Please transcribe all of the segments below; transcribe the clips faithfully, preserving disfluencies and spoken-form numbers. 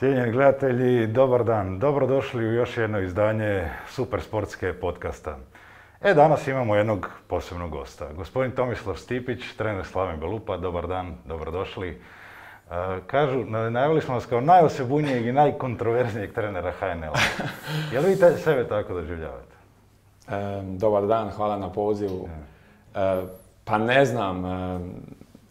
Cijenjeni gledatelji, dobar dan. Dobrodošli u još jedno izdanje Super sportske podcasta. E, danas imamo jednog posebnog gosta. Gospodin Tomislav Stipić, trener Slaven Belupa. Dobar dan, dobrodošli. E, kažu, najavili smo vas kao najosebujnijeg i najkontroverznijeg trenera H N L-a. Jel vi te, sebe tako doživljavate? E, dobar dan, hvala na pozivu. E, pa ne znam, e,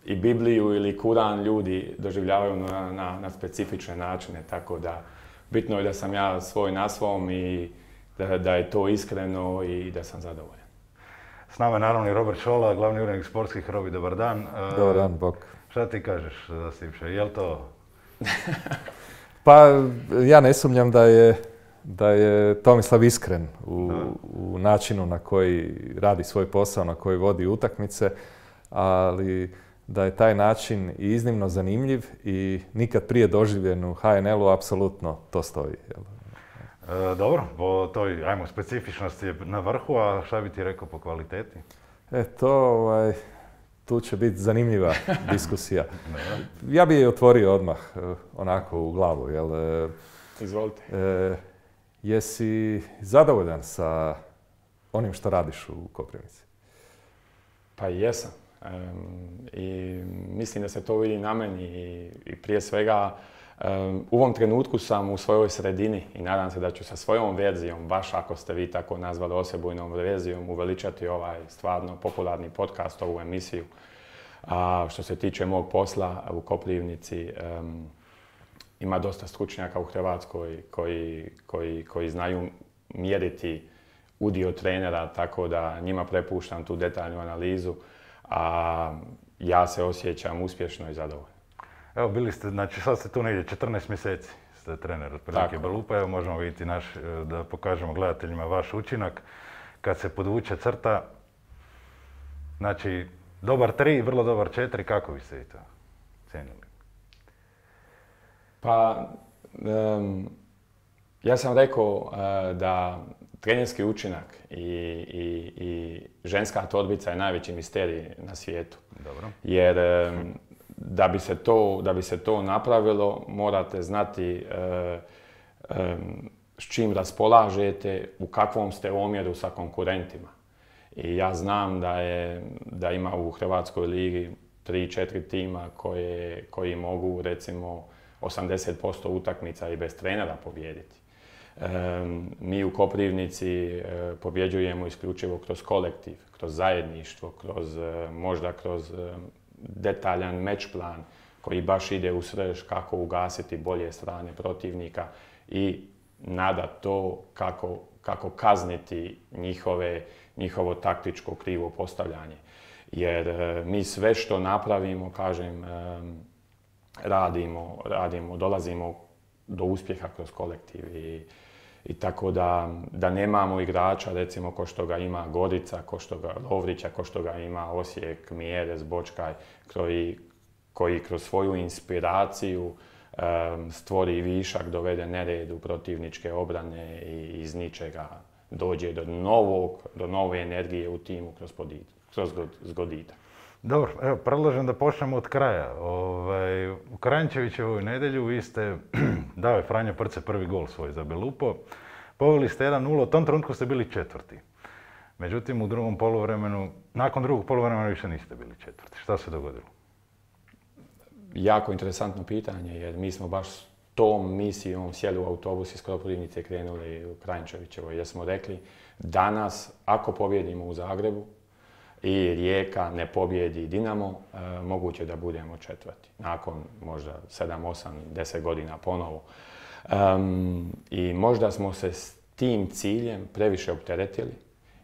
i Bibliju ili Kuran ljudi doživljavaju na, na, na specifične načine, tako da bitno je da sam ja svoj na svom i da, da je to iskreno i da sam zadovoljan. S nama je naravno i Robert Šola, glavni urednik sportskih. Robi, dobar dan. Dobar dan, bok. Šta ti kažeš za Stipše, je li to? Pa ja ne sumnjam da je, da je Tomislav iskren u, u načinu na koji radi svoj posao, na koji vodi utakmice, ali da je taj način i iznimno zanimljiv i nikad prije doživljen u H N L-u, apsolutno to stoji. E, dobro, po toj, ajmo, specifičnosti je na vrhu, a šta bi ti rekao po kvaliteti? E, to, ovaj, tu će biti zanimljiva diskusija. Ja bi je otvorio odmah, onako u glavu, jel? Izvolite. E, jesi zadovoljan sa onim što radiš u Koprivnici? Pa jesam. Um, I mislim da se to vidi na meni i, i prije svega um, u ovom trenutku sam u svojoj sredini i nadam se da ću sa svojom verzijom, baš ako ste vi tako nazvali osebujnom verzijom, uveličati ovaj stvarno popularni podcast, ovu emisiju. A što se tiče mog posla u Koprivnici, um, ima dosta stručnjaka u Hrvatskoj koji, koji, koji znaju mjeriti udio trenera, tako da njima prepuštam tu detaljnu analizu. A ja se osjećam uspješno i zadovoljno. Evo, bili ste, znači sad ste tu negdje četrnaest mjeseci, ste trener otprilike Belupa. Evo, možemo vidjeti naš, da pokažemo gledateljima vaš učinak. Kad se podvuče crta, znači, dobar tri, vrlo dobar četiri, kako vi ste i to cijenili? Pa, um, ja sam rekao uh, da trenerski učinak i, i, i ženska torbica je najveći misterij na svijetu. Dobro. Jer um, da, bi se to, da bi se to napravilo, morate znati uh, um, s čim raspolažete, u kakvom ste omjeru sa konkurentima. I ja znam da, je, da ima u Hrvatskoj ligi tri četiri tima koje, koji mogu, recimo, osamdeset posto utakmica i bez trenera pobijediti. Um, mi u Koprivnici uh, pobjeđujemo isključivo kroz kolektiv, kroz zajedništvo, kroz, uh, možda kroz uh, detaljan match plan koji baš ide u srž kako ugasiti bolje strane protivnika i nada to kako, kako kazniti njihove, njihovo taktičko krivo postavljanje. Jer uh, mi sve što napravimo, kažem, um, radimo, radimo, dolazimo do uspjeha kroz kolektiv i, i tako da, da nemamo igrača, recimo, ko što ga ima Gorica, ko što ga Lovrića, ko što ga ima Osijek, Mjerez, Bočkaj, koji, koji kroz svoju inspiraciju um, stvori višak, dovede nered u protivničke obrane i iz ničega dođe do novog, do nove energije u timu kroz, podit, kroz zgoditak. Dobro, evo, predlažem da počnemo od kraja. Ovaj, u Kranjčevićevoj nedjelju vi ste, dao je Franjo Prce prvi gol svoj za Belupo, poveli ste jedan nula, u tom trenutku ste bili četvrti. Međutim, u drugom poluvremenu, nakon drugog poluvremena više niste bili četvrti. Šta se dogodilo? Jako interesantno pitanje, jer mi smo baš tom misijom sjeli u autobus iz Koprivnice i krenuli u Kranjčevićevoj, jer smo rekli danas, ako pobjedimo u Zagrebu, i Rijeka ne pobjedi Dinamo, e, moguće da budemo četvrti. Nakon možda sedam, osam, deset godina ponovo. Um, I možda smo se s tim ciljem previše opteretili,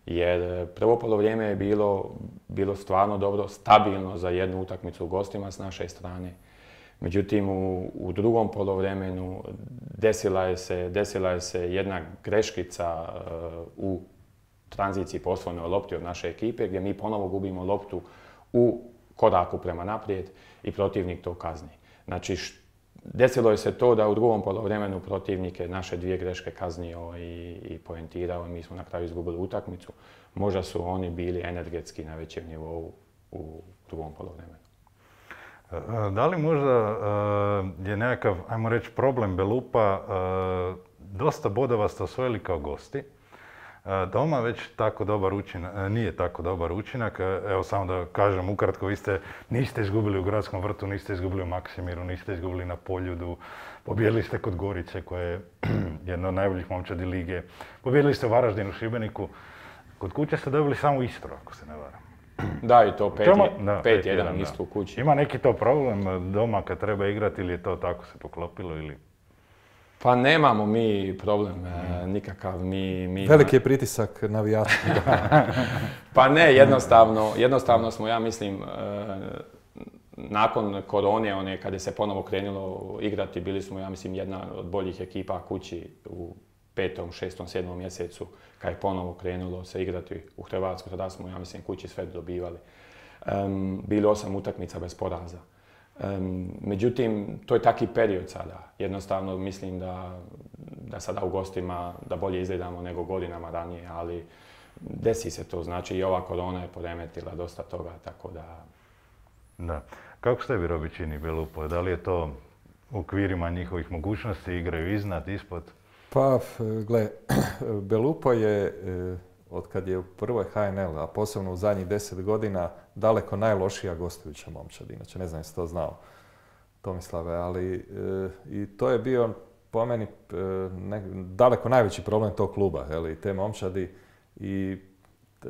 jer prvo polovrijeme je bilo, bilo stvarno dobro, stabilno za jednu utakmicu u gostima s naše strane. Međutim, u, u drugom polovremenu desila je se, desila je se jedna greškica uh, u tranziciji po osvojnoj lopti od naše ekipe, gdje mi ponovo gubimo loptu u koraku prema naprijed i protivnik to kazni. Znači, desilo je se to da u drugom poluvremenu protivnik je naše dvije greške kaznio i, i poentirao i mi smo na kraju izgubili utakmicu. Možda su oni bili energetski na većem nivou u drugom poluvremenu. Da li možda je nekakav, ajmo reći, problem Belupa, dosta bodova ste osvojili kao gosti, doma već tako dobar učinak, nije tako dobar učinak, evo samo da kažem ukratko, vi ste, niste izgubili u Gradskom vrtu, niste izgubili u Maksimiru, niste izgubili na Poljudu, pobijedili ste kod Gorice koja je jedna od najboljih momčadi lige, pobijedili ste u Varaždinu, Šibeniku, kod kuće ste dobili samo Istru, ako se ne varam. Da, i to pet jedan Istru u kući. Ima neki to problem doma kad treba igrati ili je to tako se poklopilo ili... Pa nemamo mi problem mm. nikakav. Mi, mi Veliki je pritisak navijača. Pa ne, jednostavno, jednostavno smo, ja mislim, nakon korone, one, kada se ponovo krenulo igrati, bili smo, ja mislim, jedna od boljih ekipa kući u petom, šestom, sedmom mjesecu, kad je ponovo krenulo se igrati u Hrvatsku, tada smo, ja mislim, kući sve dobivali. Um, bili osam utakmica bez poraza. Um, međutim, to je taki period sada. Jednostavno mislim da, da sada u gostima da bolje izgledamo nego godinama ranije, ali desi se to. Znači i ova korona je poremetila dosta toga, tako da... Da. Kako ste vi Robi čini Belupo? Da li je to u okvirima njihovih mogućnosti, igraju iznad, ispod? Pa, gle, Belupo je, od kad je u prvoj H N L, a posebno u zadnjih deset godina, daleko najlošija gostujuća momčad. Inače, ne znam jesi to znao, Tomislave, ali i to je bio po meni ne, daleko najveći problem tog kluba, i te momčadi i e,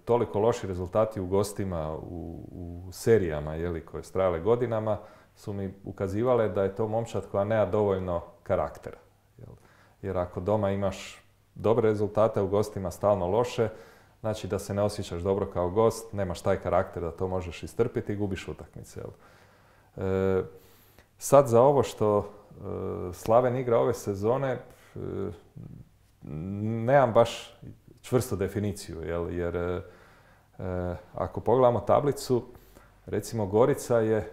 toliko loši rezultati u gostima, u, u serijama, jeli, koje su trajale godinama, su mi ukazivale da je to momčad koja nema dovoljno karaktera. Jel? Jer ako doma imaš dobre rezultate, u gostima stalno loše, znači da se ne osjećaš dobro kao gost, nemaš taj karakter da to možeš istrpiti i gubiš utakmice. E, sad za ovo što e, Slaven igra ove sezone, e, nemam baš čvrstu definiciju, jel? Jer e, ako pogledamo tablicu, recimo Gorica je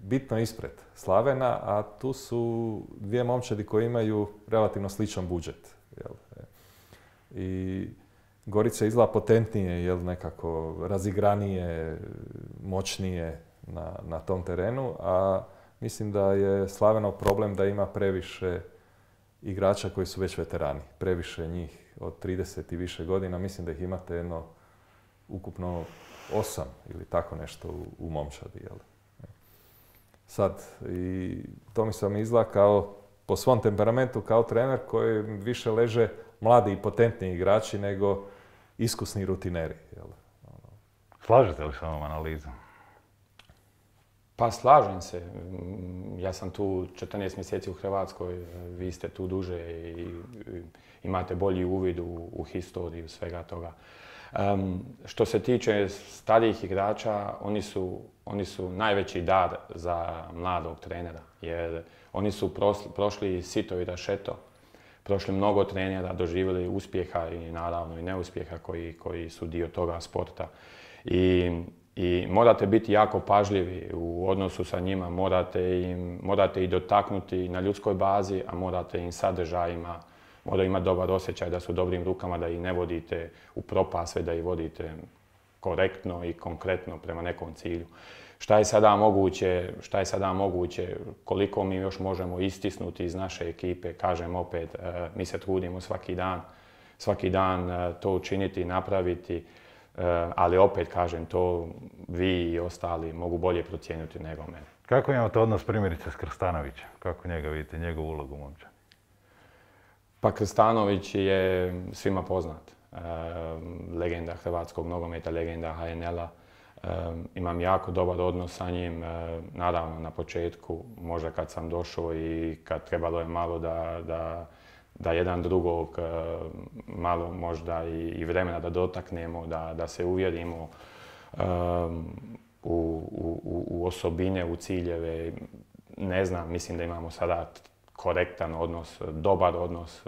bitno ispred Slavena, a tu su dvije momčadi koje imaju relativno sličan budžet. Jel? I Gorica izgleda potentnije, jel, nekako razigranije, moćnije na, na tom terenu, a mislim da je Slavenov problem da ima previše igrača koji su već veterani. Previše njih od trideset i više godina, mislim da ih imate jedno ukupno osam ili tako nešto u, u momčadi. Jel? Sad, i to mi se mi izgleda kao, po svom temperamentu kao trener koji više leže mladi i potentni igrači nego iskusni rutineri. Jel? Slažete li s ovom analizom? Pa slažem se. Ja sam tu četrnaest mjeseci u Hrvatskoj, vi ste tu duže i imate bolji uvid u, u historiju svega toga. Um, što se tiče starijih igrača, oni su, oni su najveći dar za mladog trenera, jer oni su prosli, prošli sito i rašeto, prošli mnogo trenera, doživjeli uspjeha i naravno i neuspjeha koji, koji su dio toga sporta. I, i morate biti jako pažljivi u odnosu sa njima, morate, im, morate ih dotaknuti na ljudskoj bazi, a morate im sadržajima, moraju imati dobar osjećaj da su u dobrim rukama, da ih ne vodite u propast, sve da ih vodite korektno i konkretno prema nekom cilju. Šta je sada moguće, šta je sada moguće, koliko mi još možemo istisnuti iz naše ekipe, kažem opet, mi se trudimo svaki dan, svaki dan to učiniti, napraviti, ali opet kažem, to vi i ostali mogu bolje procijeniti nego mene. Kako imate odnos primjerice s Krstanovićem? Kako njega vidite, njegovu ulogu momčadi? Pa Krstanović je svima poznat. E, legenda hrvatskog nogometa, legenda H N L-a. E, imam jako dobar odnos sa njim. E, naravno, na početku, možda kad sam došao i kad trebalo je malo da, da, da jedan drugog e, malo možda i, i vremena da dotaknemo, da, da se uvjerimo e, u, u, u osobine, u ciljeve. Ne znam, mislim da imamo sada korektan odnos, dobar odnos,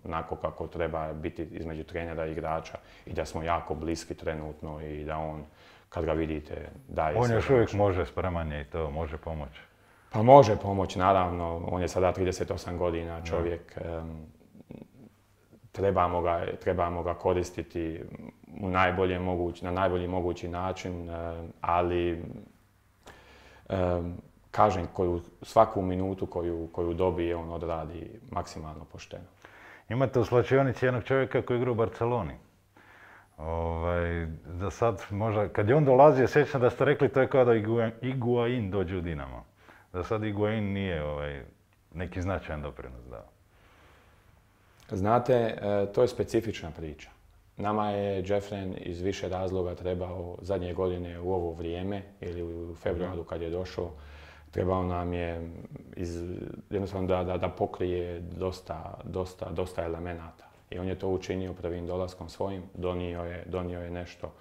onako kako treba biti između trenera i igrača i da smo jako bliski trenutno i da on, kad ga vidite, daje sve. On još uvijek može, spreman je i to, može pomoći. Pa može pomoći, naravno. On je sada trideset osam godina čovjek. Trebamo ga, trebamo ga koristiti u najbolje mogući, na najbolji mogući način, ali kažem, koju, svaku minutu koju, koju dobije, on odradi maksimalno pošteno. Imate u slačionici jednog čovjeka koji igra u Barceloni. Ovaj, za sad možda, kad je on dolazio, sjećam da ste rekli to je kao da Higuain dođe u Dinamo. Za sad Higuain nije ovaj, neki značajan doprinos dao. Znate, to je specifična priča. Nama je Jeffren iz više razloga trebao zadnje godine u ovo vrijeme ili u februaru kad je došao, trebao nam je iz, jednostavno da, da, da pokrije dosta, dosta, dosta elemenata. I on je to učinio prvim dolaskom svojim, donio je, donio je nešto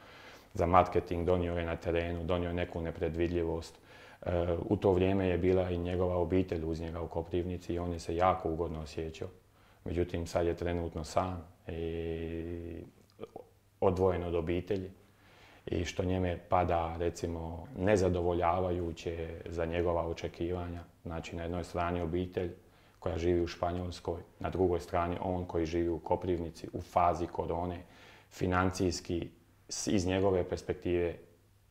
za marketing, donio je na terenu, donio je neku nepredvidljivost. E, u to vrijeme je bila i njegova obitelj uz njega u Koprivnici i on je se jako ugodno osjećao. Međutim, sad je trenutno sam i odvojen od obitelji i što njeme pada, recimo, nezadovoljavajuće za njegova očekivanja. Znači, na jednoj strani obitelj koja živi u Španjolskoj, na drugoj strani on koji živi u Koprivnici u fazi korone, financijski iz njegove perspektive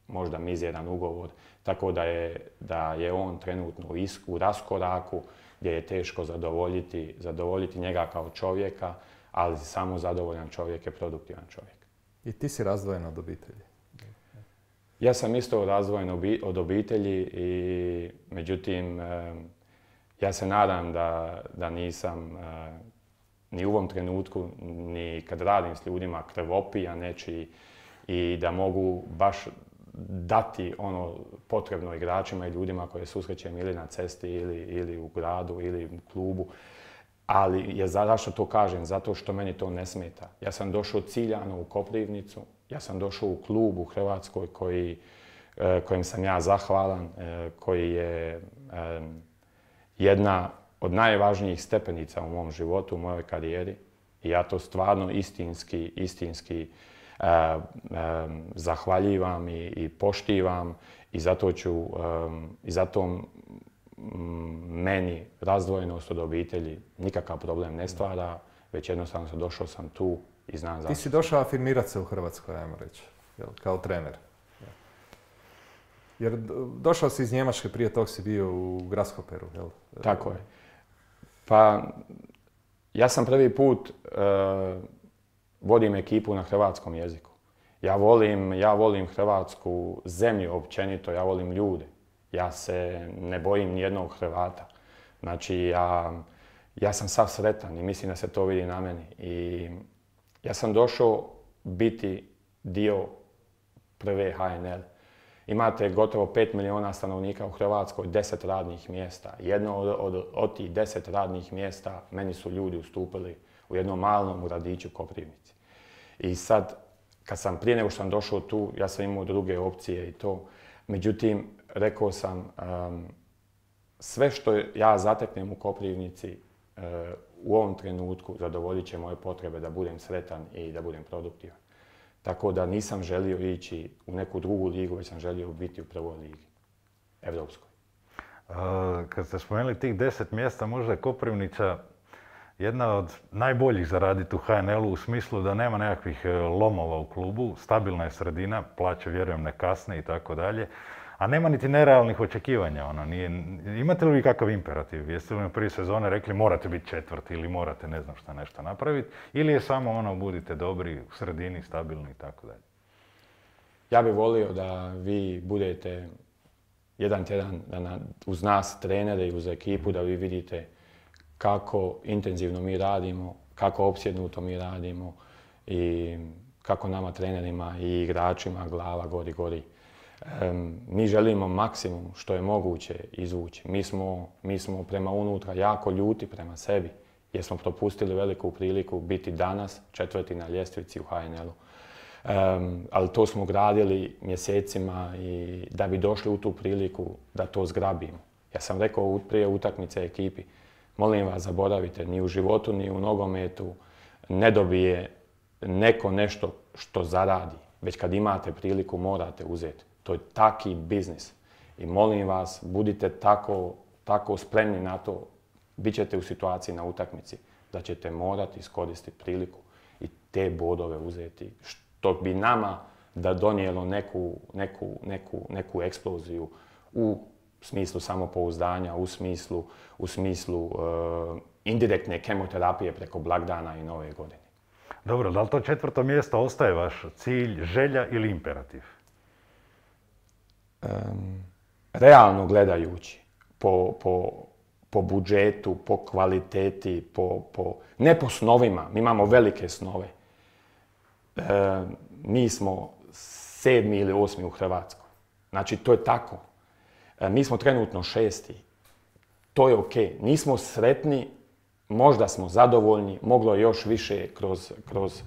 možda mizeran ugovor, tako da je, da je on trenutno u, isku, u raskoraku gdje je teško zadovoljiti, zadovoljiti njega kao čovjeka, ali samo zadovoljan čovjek je produktivan čovjek. I ti si razdvojen od obitelji? Ja sam isto razdvojen od obitelji i međutim ja se nadam da, da nisam ni u ovom trenutku, ni kad radim s ljudima krvopija nečiji i da mogu baš dati ono potrebno igračima i ljudima koje susrećem ili na cesti ili, ili u gradu ili u klubu. Ali je zašto to kažem? Zato što meni to ne smeta. Ja sam došao ciljano u Koprivnicu, ja sam došao u klub u Hrvatskoj koji, kojem sam ja zahvalan, koji je jedna od najvažnijih stepenica u mom životu, u mojoj karijeri. I ja to stvarno istinski, istinski uh, um, zahvaljivam i, i poštivam i zato ću, um, i zato um, meni razdvojenost od obitelji nikakav problem ne stvara, već jednostavno sam došao sam tu i znam zašto. Ti si došao afirmirati se u Hrvatskoj, ajmo reći, jel, kao trener. Jer došao si iz Njemačke, prije tog si bio u Grasshoperu, jel? Tako je. Pa, ja sam prvi put uh, vodim ekipu na hrvatskom jeziku. Ja volim, ja volim Hrvatsku zemlju općenito, ja volim ljude. Ja se ne bojim nijednog Hrvata. Znači, ja, ja sam sav sretan i mislim da se to vidi na meni. I ja sam došao biti dio prve H N L. Imate gotovo pet milijuna stanovnika u Hrvatskoj, deset radnih mjesta. Jedno od, od, od tih deset radnih mjesta meni su ljudi ustupili u jednom malom gradiću Koprivnici. I sad, kad sam prije nego što sam došao tu, ja sam imao druge opcije i to. Međutim, rekao sam, um, sve što ja zateknem u Koprivnici uh, u ovom trenutku zadovoljit će moje potrebe da budem sretan i da budem produktivan. Tako da nisam želio ići u neku drugu ligu, već sam želio biti u prvoj ligi, evropskoj. Kad ste spomenuli tih deset mjesta, možda je Koprivnica jedna od najboljih za raditi u H N L-u u smislu da nema nekakvih lomova u klubu, stabilna je sredina, plaće vjerujem ne kasne i tako dalje, a nema niti nerealnih očekivanja. Ono, nije, imate li vi kakav imperativ? Jeste li na prvi sezone rekli morate biti četvrti ili morate ne znam šta nešto napraviti? Ili je samo ono budite dobri, u sredini, stabilni i tako dalje? Ja bih volio da vi budete jedan tjedan da na, uz nas trenere i uz ekipu da vi vidite kako intenzivno mi radimo, kako opsjednuto mi radimo i kako nama trenerima i igračima glava gori gori. Um, mi želimo maksimum što je moguće izvući. Mi smo, mi smo prema unutra jako ljuti prema sebi jer smo propustili veliku priliku biti danas četvrti na ljestvici u H N L-u. Um, ali to smo gradili mjesecima i da bi došli u tu priliku da to zgrabimo. Ja sam rekao prije utakmice ekipi, molim vas zaboravite, ni u životu ni u nogometu ne dobije neko nešto što zaradi, već kad imate priliku morate uzeti. To je taki biznis. I molim vas, budite tako, tako spremni na to, bit ćete u situaciji na utakmici da ćete morati iskoristiti priliku i te bodove uzeti, što bi nama da donijelo neku, neku, neku, neku eksploziju u smislu samopouzdanja, u smislu, u smislu e, indirektne kemoterapije preko blagdana i nove godine. Dobro, da li to četvrto mjesto ostaje vaš cilj, želja ili imperativ? Um, realno gledajući, po, po, po budžetu, po kvaliteti, po, po, ne po snovima, mi imamo velike snove. E, mi smo sedmi ili osmi u Hrvatskoj. Znači, to je tako. E, mi smo trenutno šesti. To je okej. Nismo sretni, možda smo zadovoljni, moglo je još više kroz, kroz,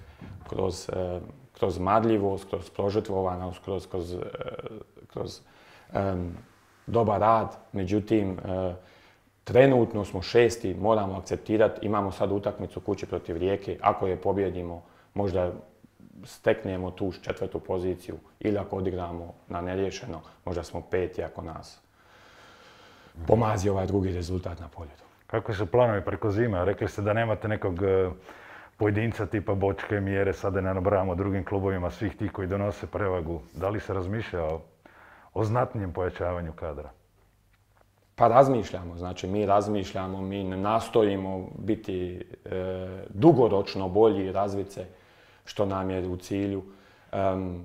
kroz, e, kroz marljivost, kroz prožrtvovanost, kroz, kroz, e, kroz um, dobar rad. Međutim, e, trenutno smo šesti, moramo akceptirati, imamo sad utakmicu kući protiv Rijeke. Ako je pobjedimo, možda steknemo tu četvrtu poziciju ili ako odigramo na neriješeno, možda smo peti ako nas pomazi ovaj drugi rezultat na poljedu. Kako su planovi preko zime? Rekli ste da nemate nekog pojedinca tipa Bočke, Mjere, sada ne nabrajamo drugim klubovima, svih tih koji donose prevagu. Da li se razmišlja o, o znatnijem pojačavanju kadra? Pa razmišljamo, znači mi razmišljamo, mi ne nastojimo biti e, dugoročno bolji i razviti se, što nam je u cilju. Um,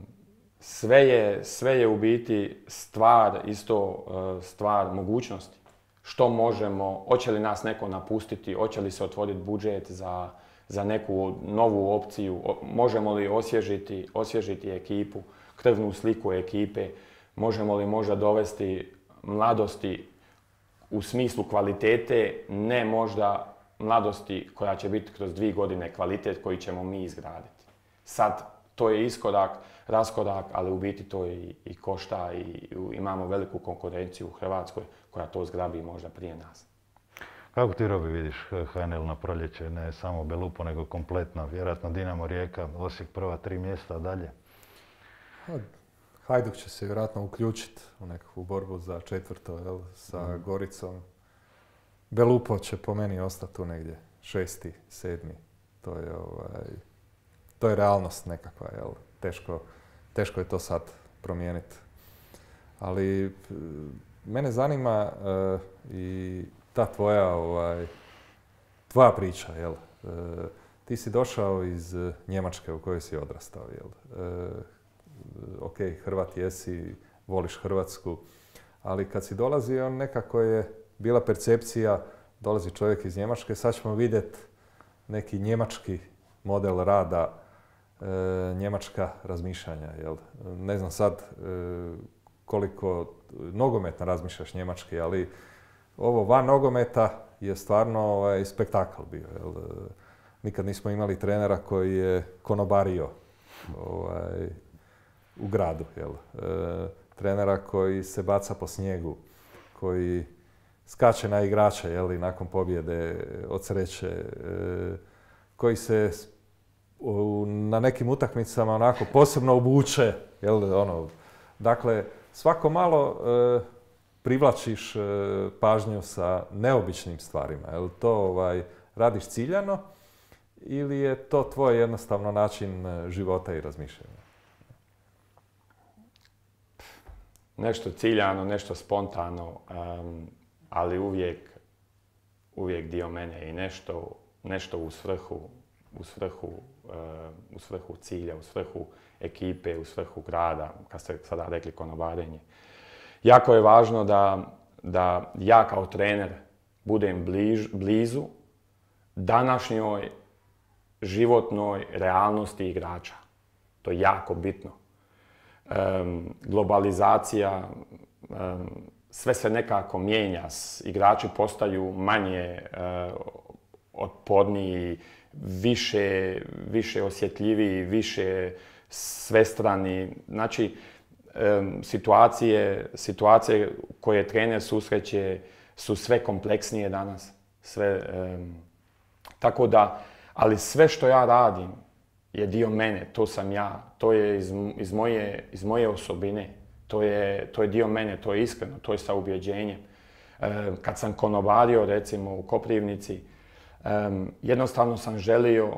sve, je, sve je u biti stvar, isto uh, stvar mogućnosti. Što možemo, hoće li nas neko napustiti, hoće li se otvoriti budžet za, za neku novu opciju, o, možemo li osvježiti, osvježiti ekipu, krvnu sliku ekipe, možemo li možda dovesti mladosti u smislu kvalitete, ne možda mladosti koja će biti kroz dvije godine kvalitet koji ćemo mi izgraditi. Sad, to je iskorak, raskorak, ali u biti to i, i košta i imamo veliku konkurenciju u Hrvatskoj koja to zgrabi možda prije nas. Kako ti, Robi, vidiš H N L na proljeće, ne samo Belupo, nego kompletno? Vjerojatno Dinamo, Rijeka, Osijek prva tri mjesta, a dalje? Hajduk će se vjerojatno uključiti u nekakvu borbu za četvrto, jel, sa mm. Goricom. Belupo će po meni ostati tu negdje, šesti, sedmi. To je ovaj... To je realnost nekakva, jel? Teško, teško je to sad promijeniti. Ali mene zanima uh, i ta tvoja, ovaj, tvoja priča, jel? Uh, ti si došao iz Njemačke u kojoj si odrastao, jel? Uh, ok, Hrvat jesi, voliš Hrvatsku, ali kad si dolazio, nekako je bila percepcija, dolazi čovjek iz Njemačke, sad ćemo vidjeti neki njemački model rada, E, njemačka razmišljanja, jel? Ne znam sad e, koliko nogometno razmišljaš njemački, ali ovo van nogometa je stvarno ovaj, spektakl bio, jel? Nikad nismo imali trenera koji je konobario ovaj, u gradu, jel? E, trenera koji se baca po snijegu, koji skače na igrača, jel? I nakon pobjede od sreće, e, koji se na nekim utakmicama onako posebno obuče, jel, ono, dakle, svako malo e, privlačiš e, pažnju sa neobičnim stvarima, jel to ovaj, radiš ciljano ili je to tvoj jednostavno način života i razmišljanja? Nešto ciljano, nešto spontano, um, ali uvijek, uvijek dio mene i nešto, nešto u svrhu, u svrhu u svrhu cilja, u svrhu ekipe, u svrhu grada, kad ste sada rekli konobarenje. Jako je važno da, da ja kao trener budem bliž, blizu današnjoj životnoj realnosti igrača. To je jako bitno. Um, globalizacija, um, sve se nekako mijenja, igrači postaju manje uh, otporniji, više, više osjetljiviji, više svestrani. Znači, um, situacije, situacije koje trener susreće su sve kompleksnije danas. Sve, um, tako da, ali sve što ja radim je dio mene, to sam ja, to je iz, iz, moje, iz moje osobine, to je, to je dio mene, to je iskreno, to je sa ubjeđenjem. Um, kad sam konobario, recimo, u Koprivnici, Um, jednostavno sam želio,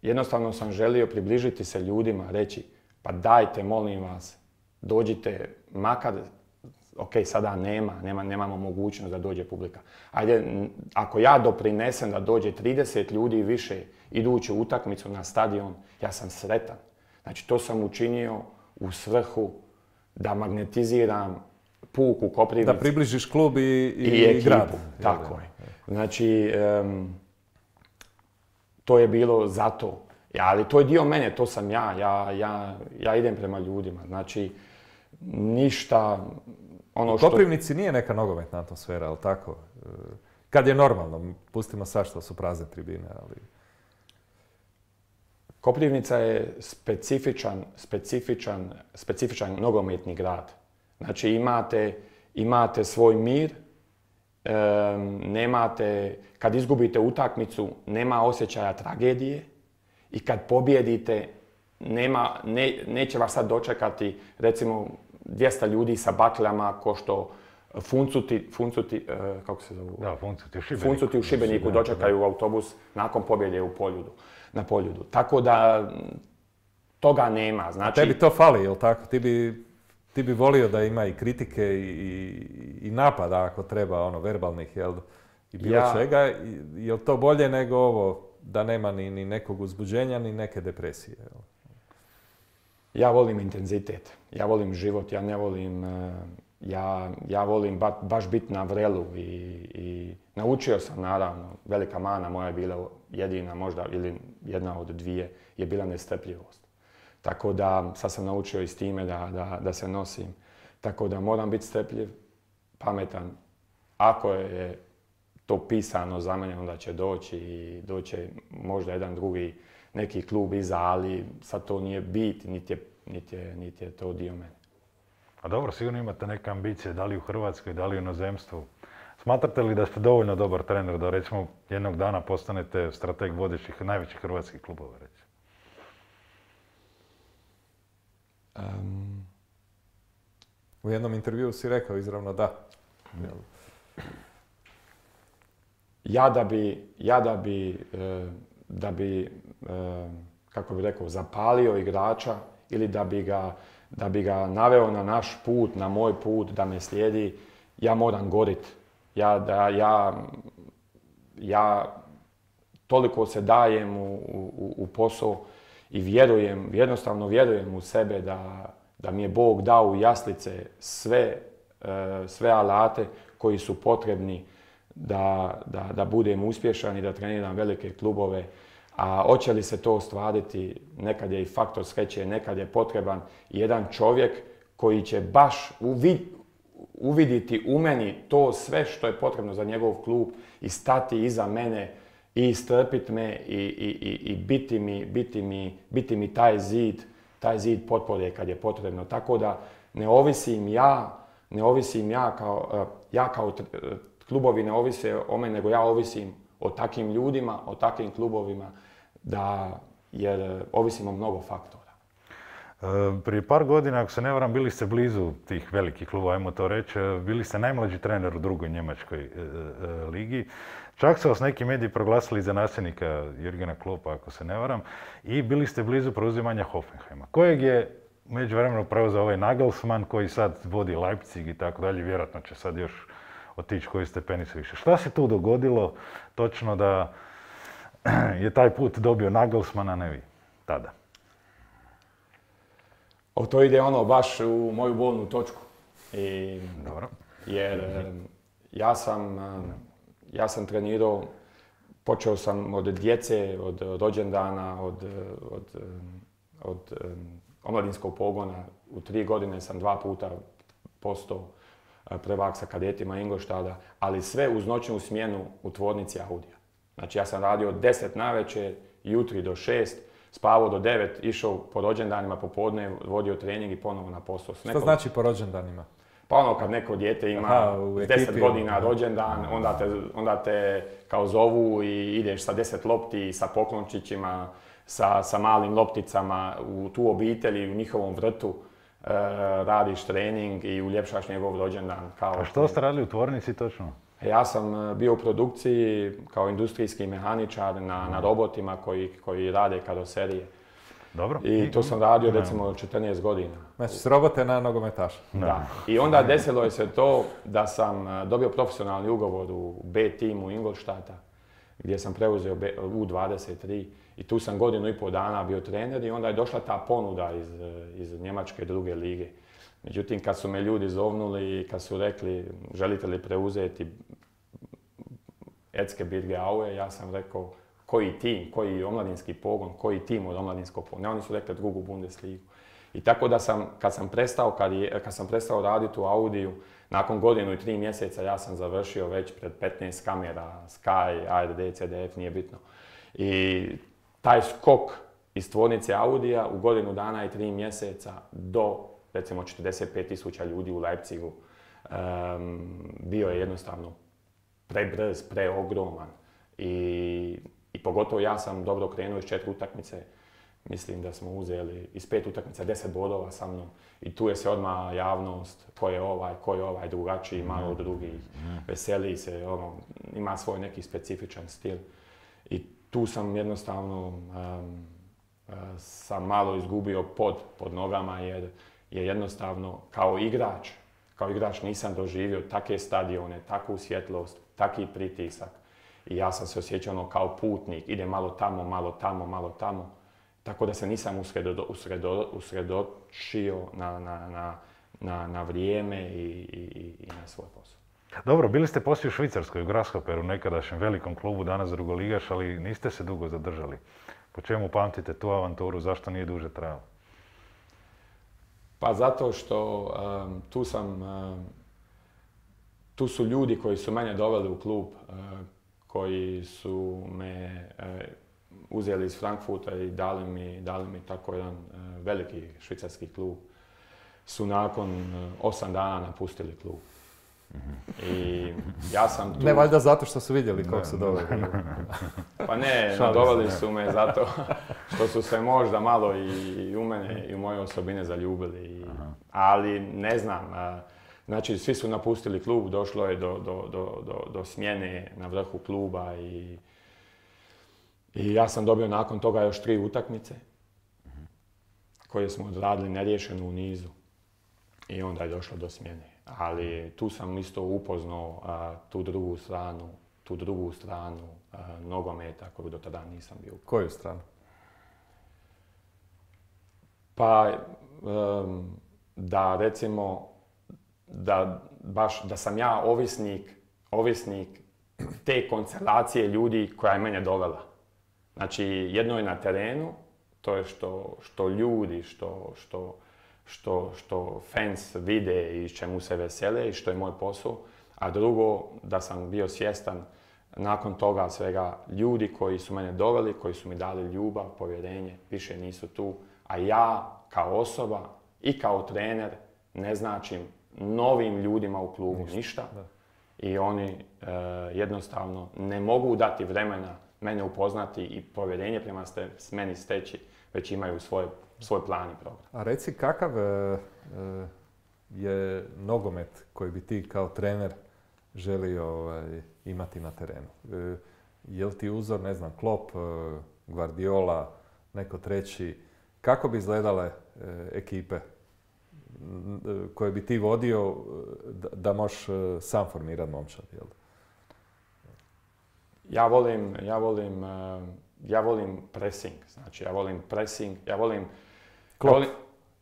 jednostavno sam želio približiti se ljudima, reći pa dajte, molim vas, dođite makar ok, sada nema, nema, nemamo mogućnost da dođe publika. Ajde, ako ja doprinesem da dođe trideset ljudi više iduću utakmicu na stadion, ja sam sretan. Znači, to sam učinio u svrhu da magnetiziram puk u Koprivnici. Da približiš klub i, i, i ekipu. grad. Tako je. Znači, um, to je bilo zato. Ja, ali to je dio mene, to sam ja. Ja, ja, ja idem prema ljudima. Znači, ništa... Ono što... U Koprivnici nije neka nogometna atmosfera, ali tako? Kad je normalno, pustimo sad što su prazne tribine, ali... Koprivnica je specifičan, specifičan, specifičan nogometni grad. Znači, imate, imate svoj mir, um, nemate, kad izgubite utakmicu, nema osjećaja tragedije i kad pobjedite, nema, ne, neće vas sad dočekati, recimo, dvjesto ljudi sa bakljama, ko što funcuti, funcuti, uh, kako se zovu? Da, funcuti u Šibeniku. Funcuti u Šibeniku dočekaju u autobus nakon pobjede u Poljudu, na Poljudu. Tako da, toga nema. Znači... A tebi to fali, jel tako? Ti bi, ti bi volio da ima i kritike i, i, i napada ako treba, ono, verbalnih, jel? I bilo ja... čega. Je li to bolje nego ovo, da nema ni, ni nekog uzbuđenja, ni neke depresije, jel? Ja volim intenzitet, ja volim život, ja ne volim, ja, ja volim ba, baš biti na vrelu i, i naučio sam naravno, velika mana moja je bila jedina možda ili jedna od dvije je bila nestrpljivost. Tako da sad sam naučio i s time da, da, da se nosim. Tako da moram biti strpljiv, pametan. Ako je to pisano za mene, onda će doći i doće možda jedan drugi neki klub iza, ali sad to nije bit, niti je, niti je, niti je to dio mene. A dobro, sigurno imate neke ambicije, da li u Hrvatskoj, da li u inozemstvu. Smatrate li da ste dovoljno dobar trener da recimo jednog dana postanete strateg vodećih najvećih hrvatskih klubova, recimo? Um, u jednom intervjuu si rekao izravno da. Mm. Ja da bi, ja da bi, da bi, kako bi rekao, zapalio igrača ili da bi ga, da bi ga naveo na naš put, na moj put, da me slijedi, ja moram gorit. Ja, da, ja, ja toliko se dajem u, u, u posao i vjerujem, jednostavno vjerujem u sebe da, da mi je Bog dao u jaslice sve, sve alate koji su potrebni Da, da, da budem uspješan i da treniram velike klubove. A hoće li se to ostvariti, nekad je i faktor sreće, nekad je potreban jedan čovjek koji će baš uvid, uviditi u meni to sve što je potrebno za njegov klub i stati iza mene i istrpiti me i, i, i, i biti, mi, biti, mi, biti mi taj zid, taj zid potpore kad je potrebno. Tako da ne ovisim ja, ne ovisim ja kao, ja kao klubovi ne ovise o meni, nego ja ovisim o takvim ljudima, o takvim klubovima, da, jer ovisim o mnogo faktora. E, prije par godina, ako se ne varam, bili ste blizu tih velikih klubova, ajmo to reći, bili ste najmlađi trener u drugoj njemačkoj e, e, ligi. Čak su vas neki mediji proglasili za nasljednika Jurgena Kloppa, ako se ne varam, i bili ste blizu preuzimanja Hoffenheima, kojeg je u međuvremenu preuzeo ovaj Nagelsmann koji sad vodi Leipzig i tako dalje, vjerojatno će sad još otići koji stepenicu više. Šta se tu dogodilo točno da je taj put dobio Nagelsmann, a ne vi tada? O, to ide ono baš u moju bolnu točku. I, Dobro. Jer ja sam, ja sam trenirao, počeo sam od djece, od rođendana, od, od, od omladinskog pogona. U tri godine sam dva puta postao prvak sa kadetima Ingolštada, ali sve uz noćnu smjenu u tvornici Audija. Znači ja sam radio od deset navečer, jutri do šest, spavao do devet, išao po rođendanima popodne, vodio trening i ponovo na posao. Što znači po rođendanima? Pa ono kad neko dijete ima Aha, deset godina rođendan, onda te, onda te kao zovu i ideš sa deset lopti, sa poklončićima, sa, sa malim lopticama u tu obitelji, u njihovom vrtu. Uh, radiš trening i uljepšaš njegov rođendan. Kao A što ste radili u tvornici točno? Ja sam bio u produkciji kao industrijski mehaničar na, na robotima koji, koji rade karoserije. Dobro. I to sam radio recimo četrnaest godina. Znači, s robote na nogometaša. Da. I onda desilo je se to da sam dobio profesionalni ugovor u B timu Ingolstadta, gdje sam preuzeo U dvadeset tri i tu sam godinu i pol dana bio trener i onda je došla ta ponuda iz, iz Njemačke druge lige. Međutim, kad su me ljudi zovnuli i kad su rekli želite li preuzeti Erzgebirge Aue, ja sam rekao koji tim, koji omladinski pogon, koji tim od omladinskog pogona. Ne, oni su rekli drugu Bundesligu. I tako da sam, kad sam prestao, kad, je, kad sam prestao raditi u Audiju, nakon godinu i tri mjeseca ja sam završio već pred petnaest kamera, Sky, A R D, C D F, nije bitno. I taj skok iz tvornice Audija u godinu dana i tri mjeseca do recimo četrdeset pet tisuća ljudi u Leipzigu um, bio je jednostavno prebrz, preogroman. I, I pogotovo ja sam dobro krenuo iz četiri utakmice. Mislim da smo uzeli iz pet utakmica deset bodova sa mnom. I tu je se odmah javnost, ko je ovaj, ko je ovaj drugačiji, malo od drugih. Veseli se, ono, ima svoj neki specifičan stil. I tu sam jednostavno um, sam malo izgubio pod, pod nogama jer je jednostavno kao igrač, kao igrač nisam doživio takve stadione, takvu svjetlost, taki pritisak. I ja sam se osjećao ono kao putnik, ide malo tamo, malo tamo, malo tamo. Tako da se nisam usredo, usredo, usredočio na, na, na, na, na vrijeme i, i, i na svoj posao. Dobro, bili ste poslije u Švicarskoj, u Grasshopperu, nekadašnjem velikom klubu, danas drugoligaš, ali niste se dugo zadržali. Po čemu pamtite tu avanturu, zašto nije duže trajalo? Pa zato što um, tu sam, um, tu su ljudi koji su mene doveli u klub, uh, koji su me uh, uzeli iz Frankfurta i dali mi, dali mi tako jedan uh, veliki švicarski klub, su nakon uh, osam dana napustili klub. I ja sam tu... Ne valjda zato što su vidjeli kako su doveli. Pa ne, doveli su me zato što su se možda malo i u mene i u moje osobine zaljubili. Ali ne znam, znači svi su napustili klub, došlo je do, do, do, do, do smjene na vrhu kluba i, i ja sam dobio nakon toga još tri utakmice koje smo odradili neriješeno u nizu i onda je došlo do smjene. Ali tu sam isto upoznao a, tu drugu stranu, tu drugu stranu a, nogometa koju do tada nisam bio. Koju stranu? Pa um, da recimo da baš da sam ja ovisnik, ovisnik te konstelacije ljudi koja je mene dovela. Znači jedno je na terenu, to je što, što ljudi, što, što Što, što fans vide i čemu se vesele i što je moj posao, a drugo da sam bio svjestan nakon toga svega ljudi koji su mene doveli, koji su mi dali ljubav, povjerenje, više nisu tu, a ja kao osoba i kao trener ne značim novim ljudima u klubu ništa, ništa. I oni e, jednostavno ne mogu dati vremena mene upoznati i povjerenje prema ste, meni steći, već imaju svoje svoj plan i program. A reci, kakav e, je nogomet koji bi ti kao trener želio ovaj, imati na terenu? E, je li ti uzor, ne znam, Klopp, e, Guardiola, neko treći? Kako bi izgledale e, ekipe koje bi ti vodio da, da možeš e, sam formirati momčad? Jel? Ja volim, ja volim, e, ja volim pressing. Znači, ja volim pressing, ja volim Ja volim,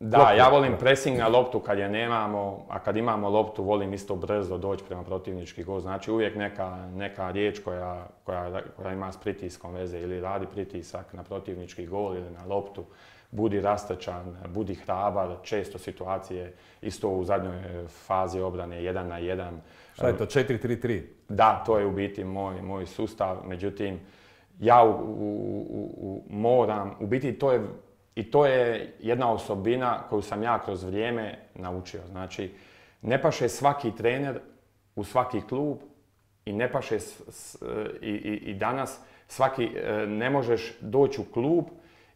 da, Klop, ja volim pressing na loptu kad je nemamo, a kad imamo loptu volim isto brzo doći prema protivnički gol. Znači uvijek neka, neka riječ koja, koja, koja ima s pritiskom veze ili radi pritisak na protivnički gol ili na loptu. Budi rastrčan, budi hrabar, često situacije isto u zadnjoj fazi obrane jedan na jedan. Šta je to, četiri tri tri? Da, to je u biti moj, moj sustav, međutim ja u, u, u, u, moram, u biti to je I to je jedna osobina koju sam ja kroz vrijeme naučio. Znači, ne paše svaki trener u svaki klub i ne paše s, s, i, i, i danas svaki, ne možeš doći u klub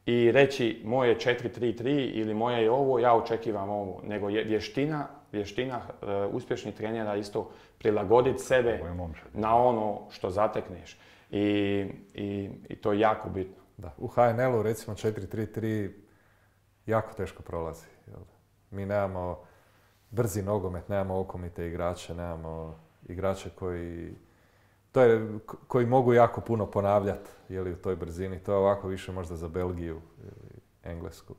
i reći moje četiri tri tri ili moje je ovo, ja očekivam ovo. Nego je vještina, vještina uh, uspješnih trenera isto prilagoditi sebe na ono što zatekneš. I, i, i to je jako bitno. Da. U H N L-u recimo četiri tri tri jako teško prolazi. Jel? Mi nemamo brzi nogomet, nemamo okomite igrače, nemamo igrače koji, to je, koji mogu jako puno ponavljati jeli, u toj brzini. To je ovako više možda za Belgiju ili Englesku.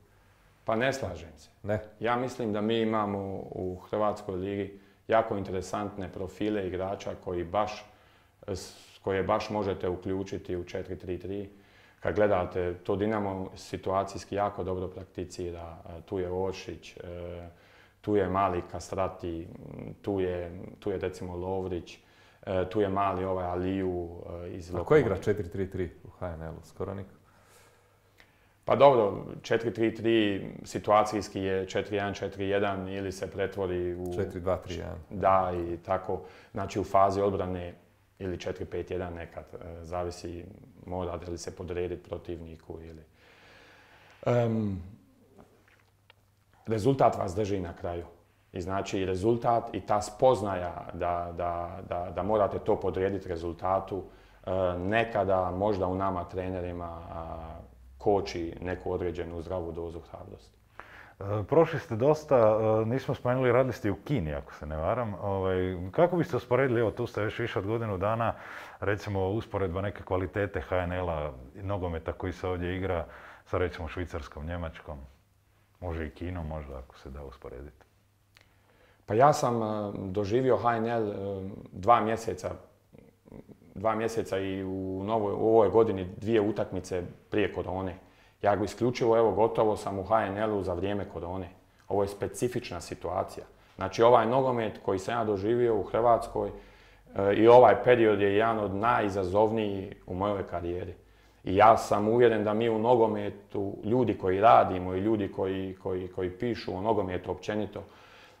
Pa ne slažem se. Ne? Ja mislim da mi imamo u Hrvatskoj ligi jako interesantne profile igrača koji baš, koje baš možete uključiti u četiri tri tri. Kad gledate, to Dinamo situacijski jako dobro prakticira. Tu je Oršić, tu je mali Kastrati, tu je, tu je recimo Lovrić, tu je mali ovaj Aliju iz Lokomotive. A ko igra četiri tri tri u H N L-u? Skoro niko. Pa dobro, četiri tri tri situacijski je četiri jedan četiri jedan ili se pretvori u... četiri dva tri jedan. Da, i tako. Znači u fazi odbrane ili četiri pet jedan nekad, zavisi mora li se podrediti protivniku ili... Um, rezultat vas drži na kraju. I znači rezultat i ta spoznaja da, da, da, da morate to podrediti rezultatu nekada možda u nama trenerima koči neku određenu zdravu dozu hrabrosti. Prošli ste dosta, nismo spomenuli, radili ste u Kini, ako se ne varam. Ovaj, kako biste usporedili, evo tu ste već više od godinu dana, recimo usporedba neke kvalitete H N L-a, nogometa koji se ovdje igra sa recimo Švicarskom, Njemačkom, može i Kinom možda ako se da usporediti? Pa ja sam doživio H N L dva mjeseca, dva mjeseca i u, novoj, u ovoj godini dvije utakmice prije korone. Ja isključivo, evo, gotovo sam u H N L-u za vrijeme korone. Ovo je specifična situacija. Znači, ovaj nogomet koji sam ja doživio u Hrvatskoj e, i ovaj period je jedan od najizazovnijih u mojoj karijeri. I ja sam uvjeren da mi u nogometu, ljudi koji radimo i ljudi koji, koji, koji pišu o nogometu općenito,